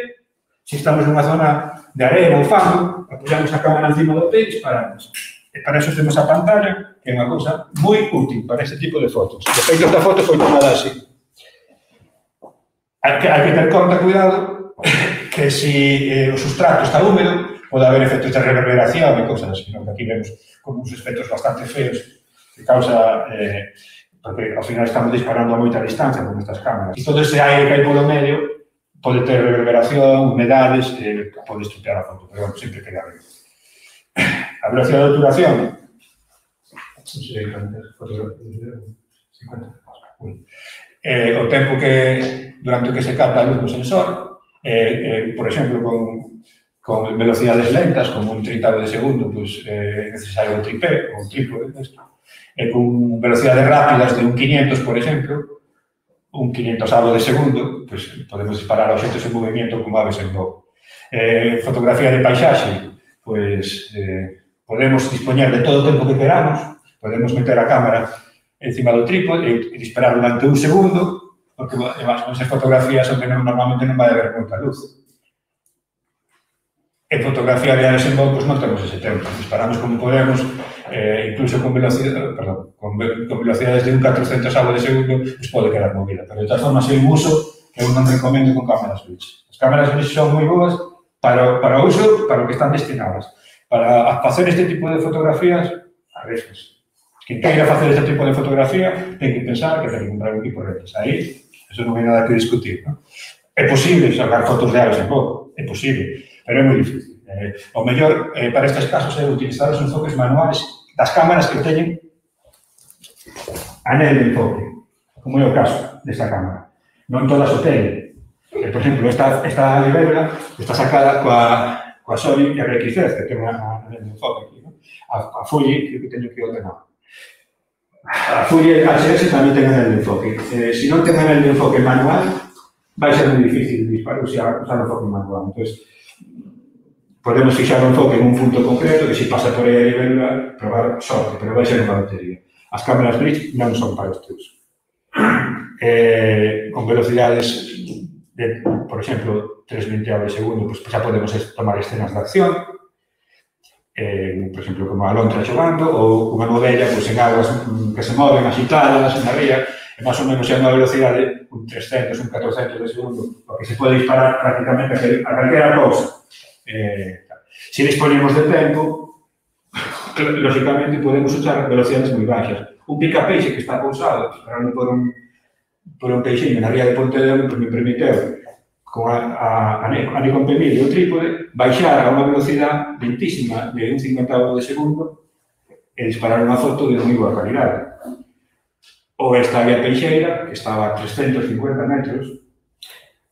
Se estamos nunha zona de arena ou fango, apoiamos a cámara encima do pé e disparamos. E para eso temos a pantalla, que é unha cousa moi útil para este tipo de fotos. De feito, esta foto foi tomada así. Hai que ter conta, cuidado, que se o sustrato está húmedo, pode haber efectos de reverberación e cousas así, que aquí vemos como uns efectos bastante feos que causa... porque ao final estamos disparando a moita distancia con estas cámaras. E todo ese aire que hai polo medio pode ter reverberación, humedades, pode estropear a foto, pero sempre queda ben. A velocidade de obturación, o tempo durante o que se capta a luz do sensor, por exemplo, con velocidades lentas, como un 30º de segundo, é necesario un tripé, ou un trípode, con velocidades rápidas de un 500, por exemplo, un 500º de segundo, podemos disparar a obxectos en movimento como aves en voo. Fotografía de paisaxe, podemos dispoñer de todo o tempo que queramos, podemos meter a cámara encima do trípode e disparar durante un segundo, porque esas fotografías onde normalmente non vai haber moita luz. En fotografía de aves en voo, non temos ese tempo, disparamos como podemos, incluso con velocidades de un 400º de segundo, pode quedar movida, pero de todas formas é un uso que eu non recomendo con cámaras Blitz. As cámaras Blitz son moi boas para o uso, para o que están destinadas. Para facer este tipo de fotografías, arriscas. Quem queira facer este tipo de fotografía ten que pensar que ten que comprar un equipo Reflex. Aí, eso non hai nada que discutir, non? É posible sacar fotos de aves en voo, é posible, pero é moi difícil. O mellor para estes casos é utilizar os enfoques manuales das cámaras que teñen anel de enfoque, como é o caso desta cámara. Non todas o teñen. Por exemplo, esta libélula está sacada coa Sony RX10, que ten anel de enfoque aquí. A Fuji, que teño que ordenar. A Fuji HS tamén ten anel de enfoque. Se non ten anel de enfoque manual, vai ser moi difícil disparar usar o enfoque manual. Entón, podemos fixar o enfoque en un punto concreto que se pasa por aí a libélula, probar sorte, pero vai ser unha batería. As cámaras Blitz non son para este uso. Con velocidades de, por exemplo, 3/20º de segundo, pues xa podemos tomar escenas de acción, por exemplo, como a lontra xogando, ou unha novella pues, en aguas que se moven agitadas, na ría, e máis ou menos é unha velocidade, un 300, un 400 de segundo, porque se pode disparar prácticamente a calquera cousa. Se disponemos de tempo, lógicamente podemos usar velocidades moi baixas. Un pica-peixe que está pousado, disparando por un peixinho na ría de Pontevedra, me permiteu, con a Nikon P1000 e o trípode, baixar a unha velocidade lentísima de un 50º de segundo e disparar unha foto de moi boa calidade. Ou esta área peixeira, que estaba a 350 metros,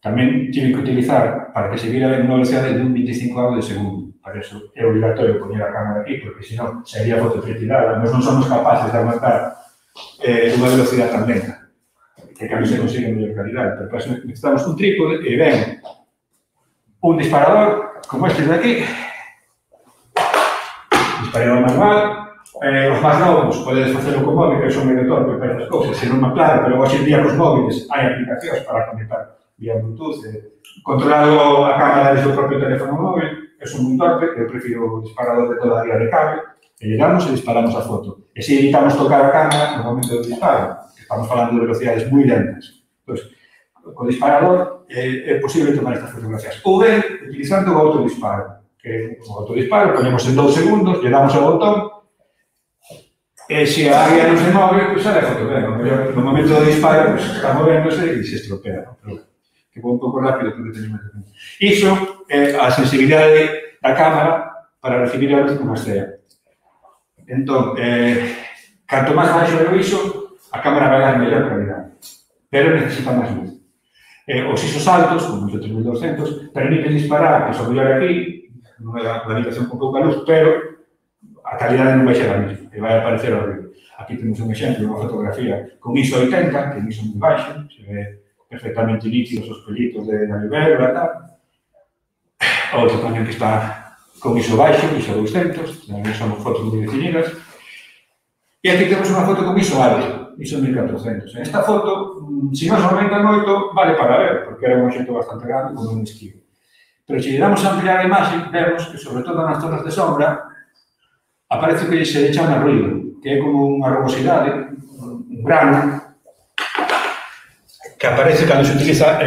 tamén tive que utilizar para que se viera unha velocidade de un 25º de segundo. Para eso é obligatorio poñer a cámara aquí, porque senón sería foto pretirada. Nós non somos capaces de aguantar unha velocidade tan lenta, que cambio se consigue mellor calidade. Pero para eso necesitamos un trípode e ven un disparador como este de aquí, disparador manual, os máis novos podedes facelo co móvil, que son medio torpe para esas cousas, se non claro, pero hoxe en día cos móviles hai aplicacións para conectar vía Bluetooth, controlado a cámara desde o propio teléfono móvil, que son un torpe, que eu prefiro o disparador de toda a día de cable, e llegamos e disparamos a foto. E se evitamos tocar a cámara no momento do disparo, que estamos falando de velocidades moi lentas. Pois, co disparador é posible tomar estas fotografías. Ou ben, utilizando o autodisparo, que o autodisparo ponemos en 2 segundos, lle damos ao botón, e se a área non se move, pois sale a foto ben. No momento do disparo, pois, está movéndose e se estropea. Pero, que vou un pouco rápido porque teño máis tempo. Iso é a sensibilidade da cámara para recibir a luz como estea. Entón, canto máis baixo é o ISO, a cámara vai dar mellor calidade, pero necesita máis luz. Os ISOs altos, como os de 3200, permiten disparar, que son mellor aquí, nunha habitación con pouca luz, pero a calidade non vai ser a mesma, e vai aparecer horrible. Aquí temos un exemplo, unha fotografía con ISO 80, que é un ISO moi baixo, se ve perfectamente nítidos os pelitos de la libélula e tal. Outro tamén que está con ISO baixo, ISO 200, tamén son fotos moi definidas. E aquí temos unha foto con ISO alto, ISO 1400. Esta foto, se non se aumenta moito, vale para ver, porque era un obxecto bastante grande como un esquivo. Pero se lle damos a ampliar a imaxe, vemos que, sobre todo nas zonas de sombra, aparece que se chama ruido, que é como unha rugosidade, un grano, que aparece cando se utiliza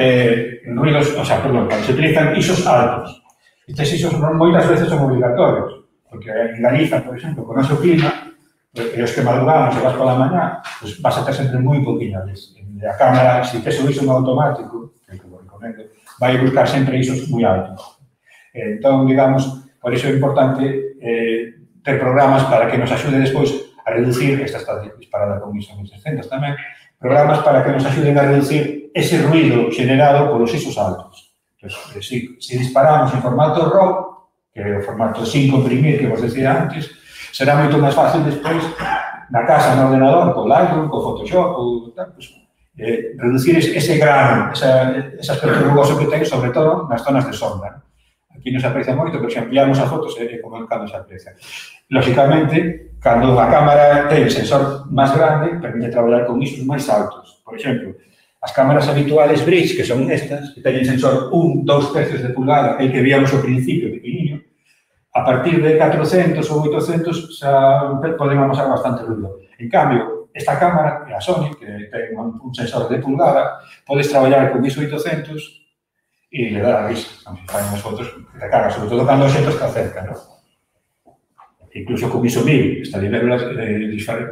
ruidos, o sea, perdón, cando se utilizan ISOs altos. Estes ISOs moitas veces son obligatorios, porque en Galiza, por exemplo, con o noso clima, e os que madrugamos e vas pola mañá, pues vas a ter sempre moi poquinha luz. A cámara, se tes o ISO no automático, que como recomendo, vai buscar sempre ISOs moi altos. Entón, digamos, por iso é importante ter programas para que nos axude despois a reducir, esta está disparada con ISO 1600 tamén, programas para que nos axuden a reducir ese ruido generado polos ISOs altos. Entón, se disparamos en formato RAW, que é o formato sin comprimir que vos decía antes, será moito máis fácil despois, na casa, no ordenador, co Lightroom, co Photoshop, ou tal, pues, reducir ese grano, ese aspecto rugoso que ten, sobre todo nas zonas de sombra. Aquí non se aprecia moito, pero se ampliamos a fotos é como cando se aprecia. Lógicamente, cando a cámara ten sensor máis grande, permite traballar con ISOs máis altos. Por exemplo, as cámaras habituales bridge, que son estas, que teñen sensor 1, 2 tercios de pulgada, el que víamos ao principio, pequeniño, a partir de 400 ou 800 xa podemos amasar bastante ruido. En cambio, esta cámara, a Sony, que ten un sensor de pulgada, podes traballar con ISO 800 e le dar a risa. Se fai unhas fotos que te cagas, sobre todo cando o xento está cerca, ¿no? Incluso con ISO 1000, esta libélula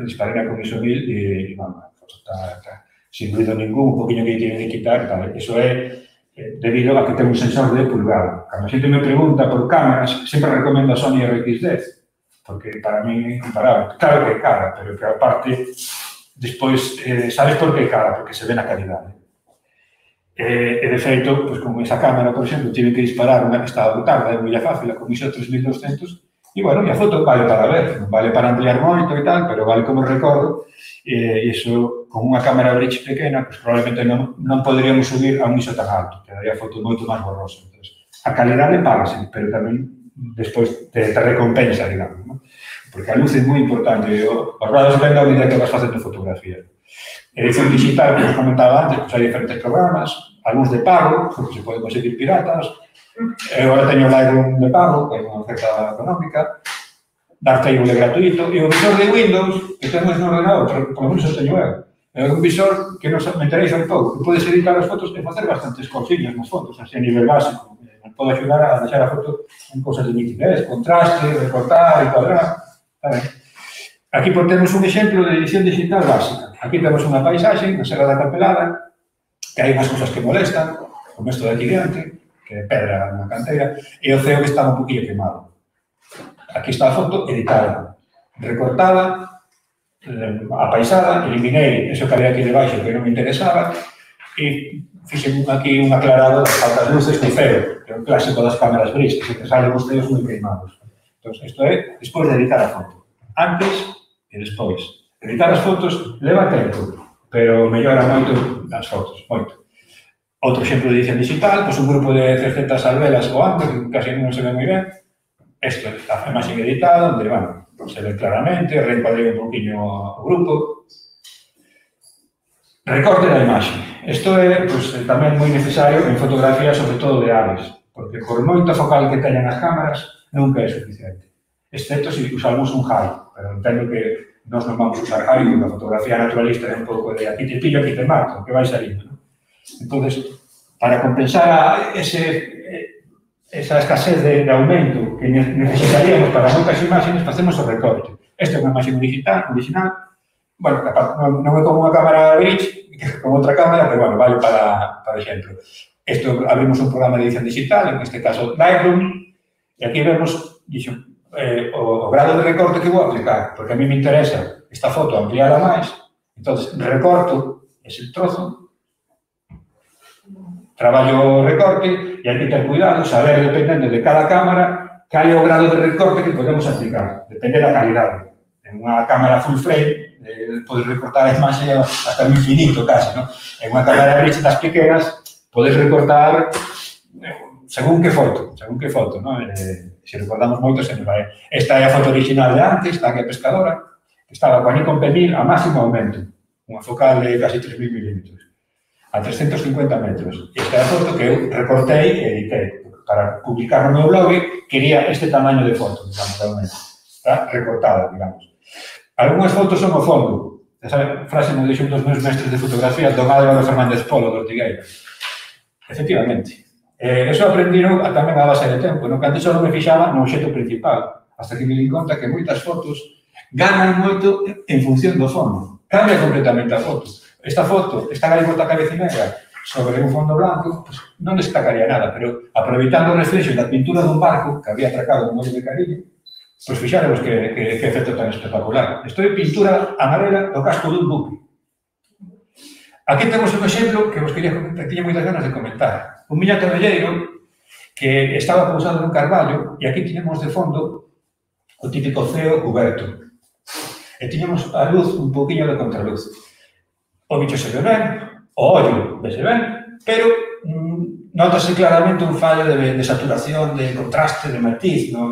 disparará con ISO 1000 e, bueno, a foto está sin ruido ningún, un poquinho que tienen que quitar, tal. Eso é debido a que ten un sensor de pulgada. Cando a xente me pregunta por cámaras, sempre recomendo a Sony RX10, porque para mí é imparable. Claro que é cara, pero que aparte, despois, sabes por que é cara? Porque se ve na calidade. E, de feito, pues, con esa cámara, por exemplo, tive que disparar unha que estaba brutal, de Villa Fácil, con ISO 3200, e, bueno, a foto vale para ver, non vale para ampliar moito e tal, pero vale como recordo, e iso, con unha cámara bridge pequena, pues, probablemente non poderíamos subir a un ISO tan alto, quedaría a foto moito máis borrosa. Entonces, a calidade págase, pero tamén despois te recompensa, digamos, ¿no? Porque a luz é moi importante, os rados ven a medida que vas facendo fotografía. Edición digital, que os comentaba antes, pues hai diferentes programas, algúns de pago, porque se poden conseguir piratas, agora teño o Lightroom de pago, que é unha oferta económica, Darktable é gratuito, e o visor de Windows, que temos no ordenador, pero por lo menos o teño eu, é un visor que nos me interesa un pouco, que podes editar as fotos e facer bastantes cousiñas nas fotos, así a nivel básico, nos pode axudar a deixar a foto en cousas de nitidez, contraste, recortar, encuadrar, está ben. Aquí temos un exemplo de edición digital básica. Aquí temos unha paisaxe na Serra da Capelada, que hai unhas cousas que molestan, como isto de aquí diante, que é pedra na canteira, e o ceo que está un poquillo quemado. Aquí está a foto editada, recortada, apaisada, eliminei eso que había aquí debaixo que non me interesaba, e fixen aquí un aclarado das faltas luces do ceo, que é un clásico das cámaras bridge, que se te salen os ceos moi queimados. Entón, isto é despois de editar a foto. Antes e despois. Editar as fotos leva tempo, pero mellora moito as fotos, moito. Outro exemplo de edición digital, pois un grupo de 300 alvelas ou antes, que casi non se ve moi ben. Isto é a imaxe editada, onde, bueno, se ve claramente, reencuadrei un poquinho o grupo. Recorte da imaxe. Isto é tamén moi necesario en fotografía, sobre todo de aves, porque por moita focal que teñan as cámaras, nunca é suficiente. Excepto se usamos un high, pero entendo que nós non vamos usar high, porque a fotografía naturalista é un pouco de aquí te pillo, aquí te mato, que vai salindo, non? Entón, para compensar esa escasez de aumento que necesitaríamos para moitas imágenes, facemos o recorte. Esta é unha imaxe original. Bueno, non é como unha cámara bridge, como outra cámara, pero bueno, vale para exemplo. Isto abrimos un programa de edición digital, en este caso Lightroom, e aquí vemos o grado de recorte que vou aplicar, porque a mí me interesa esta foto ampliada máis, entón recorto ese trozo, traballo o recorte, e hai que ter cuidado, saber, dependendo de cada cámara, cal é o grado de recorte que podemos aplicar, depende da calidade. En unha cámara full frame, podes recortar a imaxe hasta o infinito, casi, non? En unha cámara de bridge das pequenas, podes recortar según que foto, non? Se recordamos moito, se nos vai. Esta é a foto original de antes, esta que é pescadora, que estaba coa Nikon P1000 a máximo aumento, unha focal de casi 3.000 milímetros, a 350 metros. Esta é a foto que eu recortei e editei. Para publicar no meu blog, quería este tamaño de foto, digamos, realmente. Está recortada, digamos. Algúnas fotos son o fondo. Esa frase me deixou un dos meus mestres de fotografía, don Álvaro Fernández Polo, do Ortigueira. Efectivamente. Eso aprendino tamén a base de tempo, no que antes só non me fixaba no obxecto principal, hasta que me di conta que moitas fotos ganan moito en función do fondo. Cambia completamente a foto. Esta foto, esta gaivota cabecinegra sobre un fondo blanco, pues, non destacaría nada, pero aproveitando o reflexo da pintura dun barco que había atracado un mollo de Cariño, pois fixáramos que efecto tan espectacular. Isto é pintura amarela do casco dun buque. Aquí temos un exemplo que vos quería comentar, que tiña moitas ganas de comentar. Un miñato velleiro que estaba pousado nun carballo e aquí tiñemos de fondo o típico ceo cuberto. E tiñamos a luz un poquinho de contraluz. O bicho se ve ben, o ollo vese ben, pero notase claramente un fallo de saturación, de contraste, de matiz no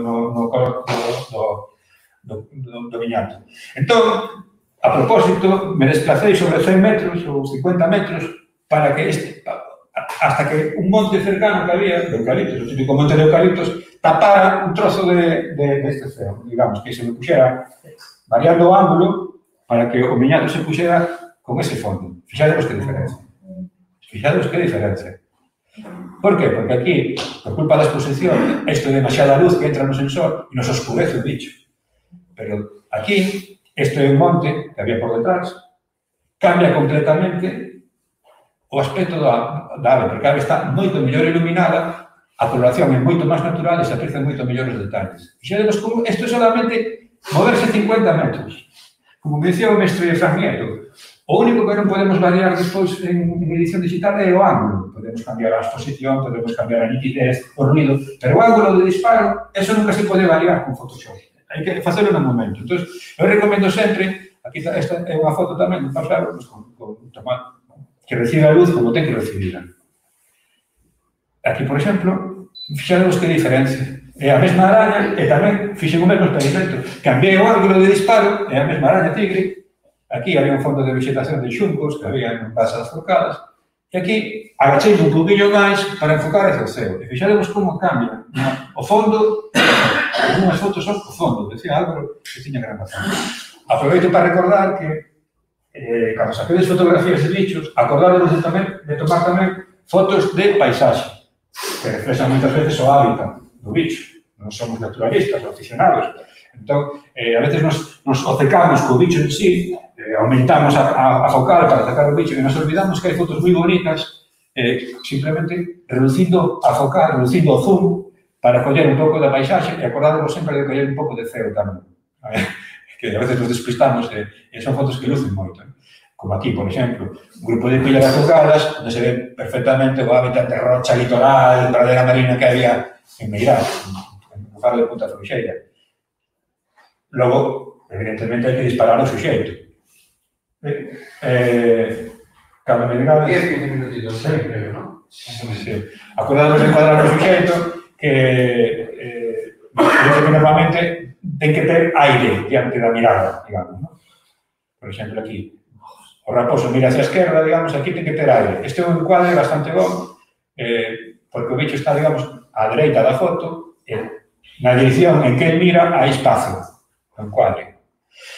color do viñato. Entón, a propósito, me desplacei sobre 100 metros ou 50 metros para que hasta que un monte cercano que había, de eucaliptos, o típico monte de eucaliptos, tapara un trozo de este ceo, digamos, que se me puxera variando o ángulo para que o viñato se puxera con ese fondo. Fixademos que diferencia. Por qué? Porque aquí, por culpa da exposición, isto é demasiada luz que entra no sensor e nos oscurece o bicho. Pero aquí, isto é un monte que había por detrás, cambia completamente o aspecto da ave, porque a ave está moito mellor iluminada, a coloración é moito máis natural e se aprecian moito mellor os detalles. Fixademos como isto é solamente moverse 50 metros. Como me dicía o mestre Fran Nieto, o único que non podemos variar despois en edición digital é o ángulo. Podemos cambiar a exposición, podemos cambiar a nitidez, o ruido, pero o ángulo de disparo, eso nunca se pode variar con Photoshop. Hai que facelo no momento. Entón, eu recomendo sempre, aquí esta é unha foto tamén, de pasar, que recibe a luz como ten que recibirla. Aquí, por exemplo, fixademos que diferencia. É a mesma araña e tamén fixen o mesmo experimento. Cambiei o ángulo de disparo, é a mesma araña tigre. Aquí había un fondo de vegetación de xuncos que había en pasas focadas. E aquí agachei un poquinho máis para enfocar hacia o ceo. E fixademos como cambia. O fondo, unhas fotos son o fondo. Decía Álvaro que tiña gran razón. Aproveito para recordar que cando saquedes fotografías de bichos, acordádemos de tomar tamén fotos de paisaxe, que reflexan moitas veces o hábitat do bicho. Non somos naturalistas, aficionados. Entón, a veces nos obcecamos co bicho en sí, aumentamos a focal para sacar o bicho e nos olvidamos que hai fotos moi bonitas simplemente reducindo a focal, reducindo o zoom para coller un pouco da paisaxe e acordádemos sempre de coller un pouco de ceo tamén. Que a veces nos despistamos e son fotos que lucen moito. Como aquí, por exemplo, un grupo de pillas afocadas onde se ve perfectamente o hábitat de rocha litoral, pradera marina que había en Meirás, en o faro de Punta Frouxeira. Logo, evidentemente, hai que disparar o suxeito. Cando me diga... 10-15 minutitos, creo, non? Sí. Acordamos de encuadrar o suxeito que normalmente ten que ter aire diante da mirada, digamos, ¿no? Por exemplo, aquí, o raposo mira hacia a esquerda, digamos, aquí ten que ter aire. Este é un encuadre bastante bom, porque o bicho está, digamos, á dereita da foto, na dirección en que ele mira hai espacio, o encuadre.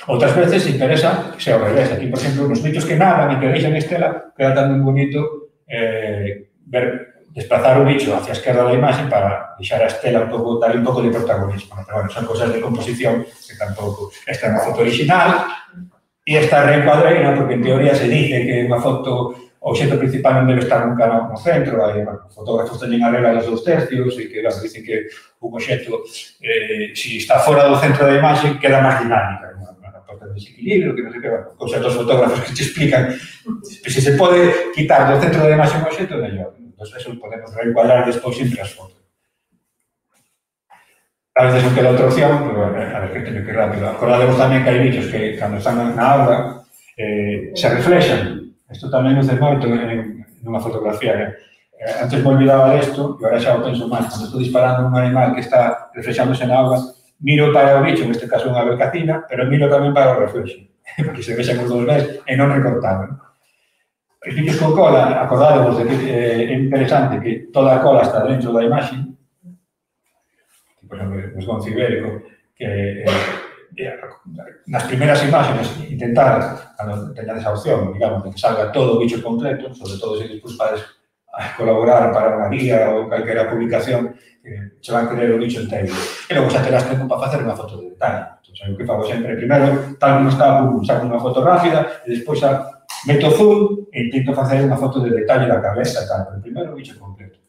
Outras veces se interesa que sea ao revés. Aquí, por exemplo, nos bichos que nadan e que deixan estela, queda tan moi bonito desplazar o bicho hacia a esquerda da imaxe para deixar a estela un pouco, darle un pouco de protagonismo. Pero, bueno, son cosas de composición que tampouco. Esta é unha foto original e esta reencuadreina, porque en teoría se dice que unha foto, o obxecto principal non debe estar nunca no centro, hai fotógrafos teñen a regla dos 2 tercios e que, dicen que un obxecto, se está fora do centro da imaxe, queda máis dinámica, porque desequilibrio, que non sei que, cousas dos fotógrafos que te explican, se se pode quitar do centro da imaxe un obxecto, mellor. Entón, eso podemos reencuadrar despois entre as fotos. A veces non queda outra opción, pero, a ver, que teño que ir rápido. Acordademos tamén que hai bichos que, cando están na auga, se reflexan. Isto tamén nos moito nunha fotografía. Antes me olvidaba desto, e agora xa o penso máis. Cando estou disparando un animal que está reflexándose na auga, miro para o bicho, neste caso unha becacina, pero miro tamén para o reflexo, porque se vexan os dos ves e non recortaron. Os bichos con cola, acordademos de que é interesante que toda a cola está dentro da imaxe, por exemplo, o esgonzo ibérico, que nas primeiras imágenes intentar, cando teñades a opción, digamos, de que salga todo o bicho completo, sobre todo se despois podes colaborar para unha guía ou calquera publicación, se van querer o bicho inteiro. E logo xa terás tempo para facer unha foto de detalle. Entón, o que fago sempre, primeiro, tal como está, saco unha foto rápida, e despois xa meto zoom e intento facer unha foto de detalle da cabeza e tal, pero primeiro o bicho completo.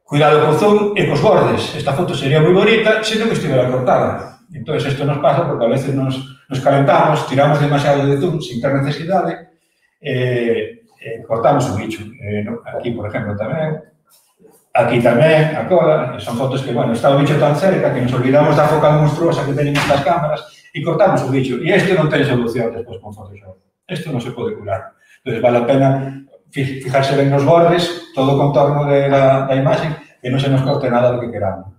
Cuidado co zoom e cos bordes. Esta foto sería moi bonita se non estivera cortada. Entón, isto nos pasa porque a veces nos calentamos, tiramos demasiado de zoom sin ter necesidade e cortamos o bicho. Aquí, por exemplo, tamén. Aquí tamén, a cola. Son fotos que, bueno, está o bicho tan cerca que nos olvidamos da focal monstruosa que teñen estas cámaras e cortamos o bicho. E isto non ten solución despois con Photoshop. Isto non se pode curar. Entón, vale a pena fijarse ben nos bordes, todo o contorno da imaxe, que non se nos corte nada do que queramos.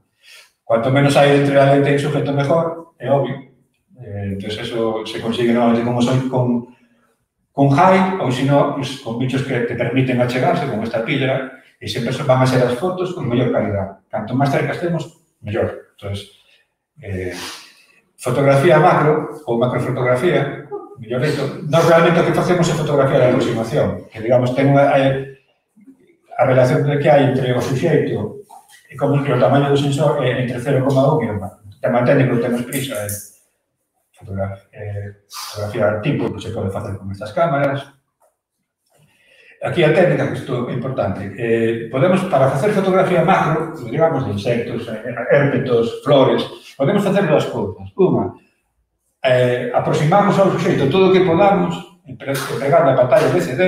Cuanto menos hai entre a lente e o sujeto mejor, é obvio. Entón, eso se consigue normalmente como soy con high, ou senón, con bichos que te permiten achegarse, como esta píldora, e sempre van a ser as fotos con mellor calidad. Canto máis cerca estemos, mellor. Entón, fotografía macro, ou macrofotografía, mellor dito, nós realmente o que facemos é fotografía de aproximación, que, digamos, ten a relación que hai entre o suxeito e como que o tamaño do sensor é entre 0,1 e 1. Te mantén que non temos prisa, fotografía tipo que se pode facer con estas cámaras. Aquí a técnica, que isto é importante, podemos, para facer fotografía macro, digamos, de insectos, hérpetos, flores, podemos facer dúas cousas. Unha, aproximarnos ao suxeito todo o que podamos, empregando a pantalla LCD,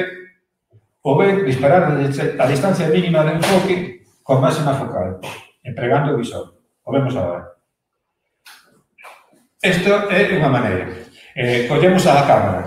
ou ben disparar a distancia mínima de enfoque con máxima focal, empregando o visor. O vemos agora. Isto é unha maneira. Collemos a cámara,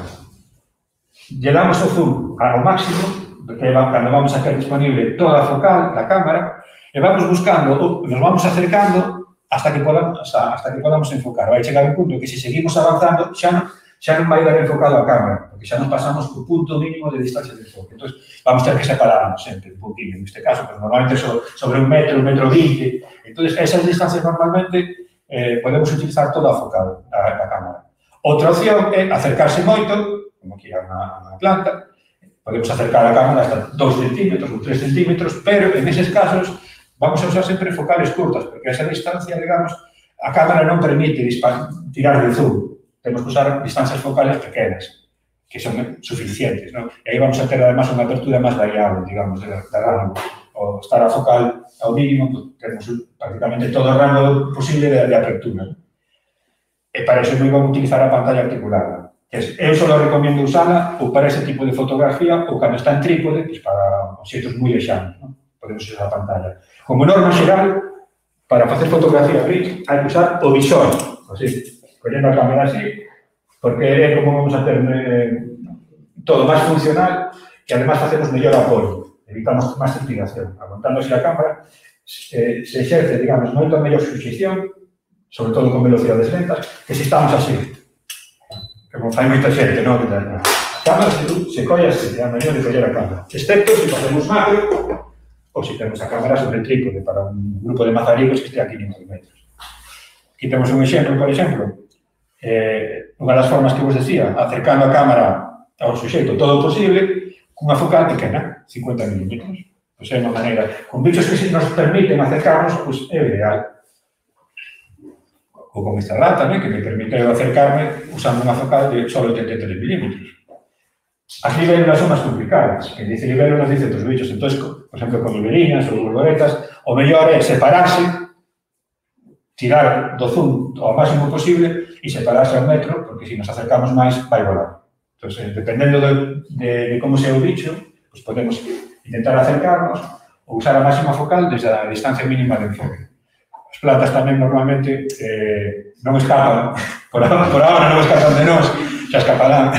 lle damos o zoom ao máximo, porque cando vamos a ter disponible toda a focal da cámara, e vamos buscando, nos vamos acercando hasta que podamos enfocar. Vai chegar un punto que se seguimos avanzando xa non vai dar enfocado a cámara, porque xa non pasamos o punto mínimo de distancia de enfoque. Entón, vamos ter que separarnos sempre un poquinho, neste caso, pero normalmente sobre 1 metro, 1,20 metro. Entón, esas distancias normalmente podemos utilizar toda a focal da cámara. Outra opción é acercarse moito, como aquí a unha planta, podemos acercar a cámara hasta 2 centímetros ou 3 centímetros, pero en eses casos vamos a usar sempre focales curtas, porque esa distancia, digamos, a cámara non permite tirar de zoom. Temos que usar distancias focales pequenas, que son suficientes, ¿no? E aí vamos a ter, además, unha apertura máis variable, digamos, da rango. O estar a focal ao mínimo, temos prácticamente todo o rango posible de apertura. E para iso non vamos a utilizar a pantalla articulada. Eu só recomiendo usala ou para ese tipo de fotografía ou cando está en trípode, pues para obxectos moi lexanos, ¿no? Podemos usar a pantalla. Como norma xeral, para facer fotografía gris, hai que usar o visor, así, collendo a cámara así, porque é como vamos a ter todo máis funcional e además facemos mellor apoio, evitamos máis transpiración. Aguantándose a cámara, se exerce, digamos, moito mellor suxestión, sobre todo con velocidades lentas, que se estamos así. Como fai moita xente, non? A cámara se colle así, é a mellor de coller a cámara. Excepto se facemos macro, ou se temos a cámara sobre el trípode para un grupo de mazaricos que este a 500 metros. Aquí temos un exemplo, por exemplo, unha das formas que vos decía, acercando a cámara ao suxeito todo o posible, cunha focal pequena, 50 milímetros. Pois é unha maneira, con bichos que nos permiten acercarnos, pois é o ideal. Ou con esta rata, que me permite acercarme usando unha focal de só 83 milímetros. As libélulas son máis complicadas. Quem dice libélula nos dice outros bichos. Entón, por exemplo, con liberinas ou borboletas, o mellor é separarse, tirar do zoom ao máximo posible e separarse ao metro, porque se nos acercamos máis, vai volar. Entón, dependendo de como sea o bicho, pues podemos intentar acercarnos ou usar a máxima focal desde a distancia mínima de enfoque. As plantas tamén normalmente non escapan, por ahora non escapan de nós, xa escaparán.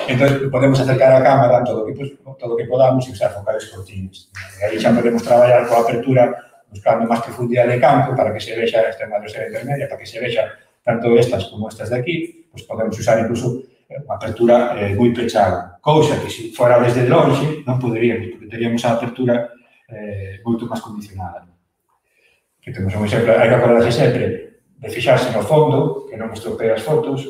Entón, podemos acercar a cámara todo o que podamos e usar focales cortinas. E aí xa podemos traballar coa apertura buscando máis profundidade de campo para que se vexa esta madrosera intermedia, para que se vexa tanto estas como estas de aquí, pues podemos usar incluso unha apertura moi pechada. Cousa que se fora desde longe non poderíamos, porque teríamos a apertura moito máis condicionada. Que temos un exemplo, hai que acordarse sempre de fixarse no fondo, que non estropee as fotos,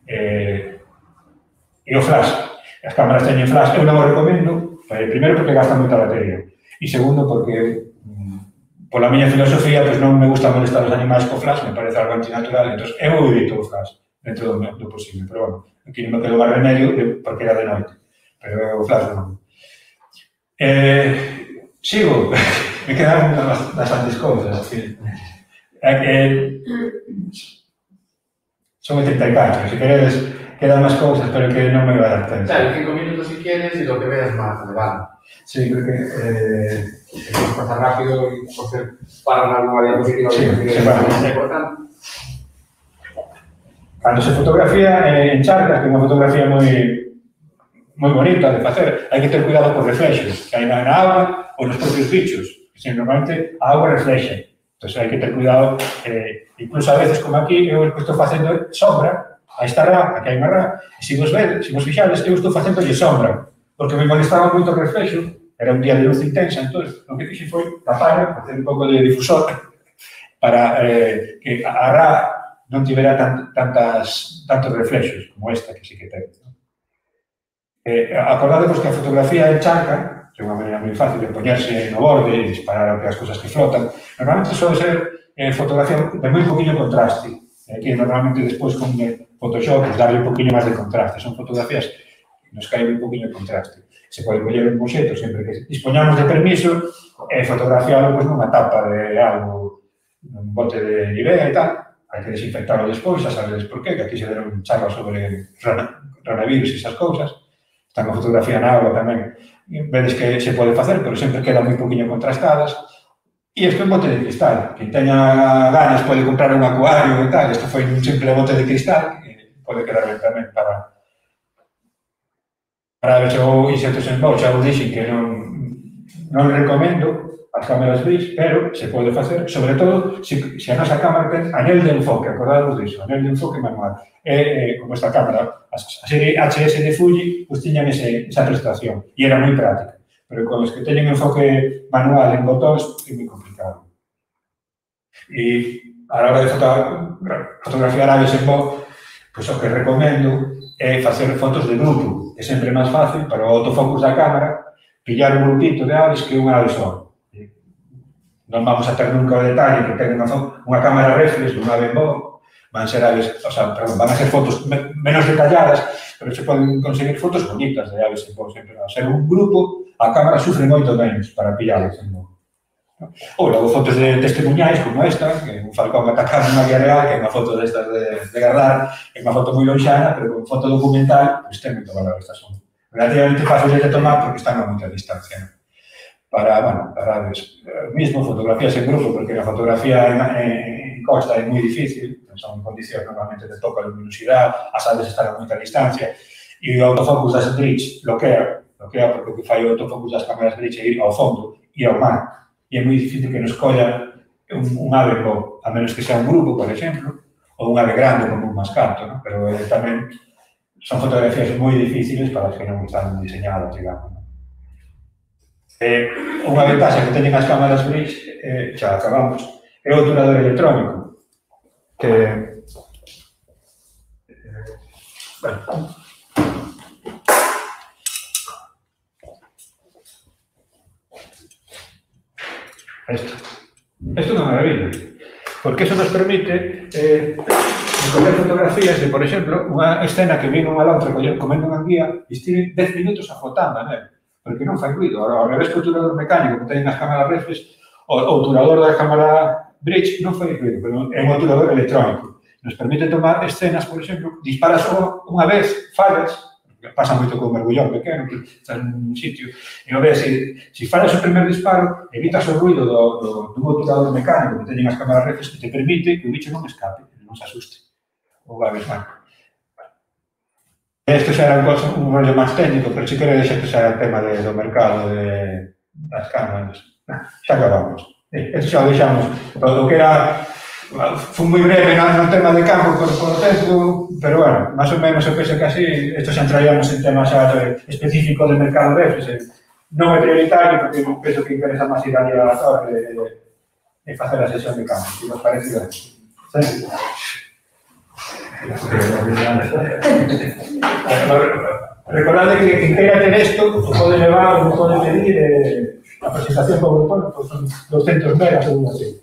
e o flash. As cámaras teñen flash, eu non o recomendo, primeiro porque gastan moita batería, e segundo porque, pola miña filosofía, pois non me gusta molestar os animais co flash, me parece algo antinatural, entón eu evito o flash dentro do posible, pero bueno, aquí non me quedo máis remedio porque era de noite, pero o flash non. Sigo. Me quedan bastantes cousas. Son 84, se queredes, quedan máis cousas, pero que non me vai dar tempo. Claro, 5 minutos si quieres y lo que veas más relevante. Sí, creo que... Pasar rápido y hacer para una diapositiva sí, que es importante. Cando se fotografía en charcas, que é unha fotografía moi bonita de facer, hai que ter cuidado con reflexos, que hai na auga ou nos propios bichos. Normalmente a auga reflexa, entón hai que ter cuidado, incluso a veces como aquí, eu estou facendo sombra a esta rá, aquí hai unha rá, e se vos fixades, eu estou facendo sombra, porque me molestaba moito o reflexo, era un día de luz intensa, entón, o que fixe foi tapar, facer un pouco de difusor, para que a rá non tivera tantos reflexos como esta que sí que ten. Acordadevos que a fotografía en charca, que é unha maneira moi fácil de poñerse no borde e disparar as cousas que flotan. Normalmente suele ser fotografía de moi poquinho contraste, que normalmente despois con Photoshop darle un poquinho máis de contraste. Son fotografías que nos caen un poquinho de contraste. Se pode coller un boxeto sempre que dispoñamos de permiso e fotografiarlo nunha tapa de algo, un bote de Nivea e tal. Hai que desinfectarlo despois, xa sabedes por qué, que aquí se deron charlas sobre ranavirus e esas cousas. Está unha fotografía na auga tamén. Vedes que se pode facer, pero sempre quedan moi poquinho contrastadas. E isto é un bote de cristal. Quem teña ganas pode comprar un acuario e tal. Isto foi un simple bote de cristal que pode quedar ben tamén para ver se o insectos en bolsa. Xa vos dixen que non recomendo as cámaras BRICS, pero se pode facer, sobre todo, se a nosa cámara ten anel de enfoque, acordadvos disso, anel de enfoque manual. Como esta cámara, a serie HS de Fuji, pues tiñan esa prestación, e era moi práctica. Pero con os que teñen enfoque manual en botóns, é moi complicado. E a la hora de fotografiar aves en voo, pues o que recomendo é facer fotos de grupo. É sempre máis fácil para o autofocus da cámara pillar un grupito de aves que unha ave só. Non vamos a ter nunca o detalle que ten unha cámara reflex dunha ave en voo, van a ser fotos menos detalladas, pero se poden conseguir fotos bonitas de aves en voo. Sempre va a ser un grupo, a cámara sufre moito menos para pillarlas en voo. Ou logo fotos de testemunhais como esta, que é un falcón atacado na vía real, que é unha foto destas de gardar, é unha foto moi lonxana, pero con foto documental, pois ten moito valor. Estas son relativamente fáciles de tomar porque están a moita distancia. Para aves, mismo fotografías en grupo, porque a fotografía en costa é moi difícil, son condicións normalmente de pouca luminosidade, as aves están a moita distancia, e o autofocus das bridge bloquea, porque o que fai o autofocus das cámaras bridge é ir ao fondo, ir ao mar, e é moi difícil que nos colla un ave, a menos que sea un grupo, por exemplo, ou un ave grande como un mascarto, ¿no? Pero tamén son fotografías moi difíciles para as que non están diseñadas, digamos. ¿No? Unha ventaxa que teñen as cámaras Bridge, xa acabamos, é o obturador electrónico, que bueno, Esto é unha maravilla, porque eso nos permite coger fotografías de, por exemplo, unha escena que vino unha outra comendo unha guía e estive 10 minutos afotando, né? Porque non fai ruido. Ao revés que o obturador mecánico que teñen as cámaras reflex, o obturador da cámara Bridge non fai ruido, pero é un obturador electrónico. Nos permite tomar escenas, por exemplo, disparas unha vez, fallas, pasa moito con un mergullón pequeno, que está nun sitio, e non ves, se fallas o primer disparo, evitas o ruido dun obturador mecánico que teñen as cámaras reflex que te permite que o bicho non escape, non se asuste. Ou va a ver, bueno. Isto xa era un rollo máis técnico, pero si quero deixar que xa era o tema do mercado das cámaras. Xa acabamos. Isto xa o deixamos. O que era... Fue moi breve no tema de campo por o tempo, pero bueno, máis ou menos eu penso que así, isto xa entraríamos en temas específicos do mercado reflex. Non é prioritario, porque penso que interesa máis ir ali a torre e facer a sesión de campo, se vos parece ben. Recordade que quien queira ter isto, pode levar, pode pedir a presentación PowerPoint, son 200 megas ou así.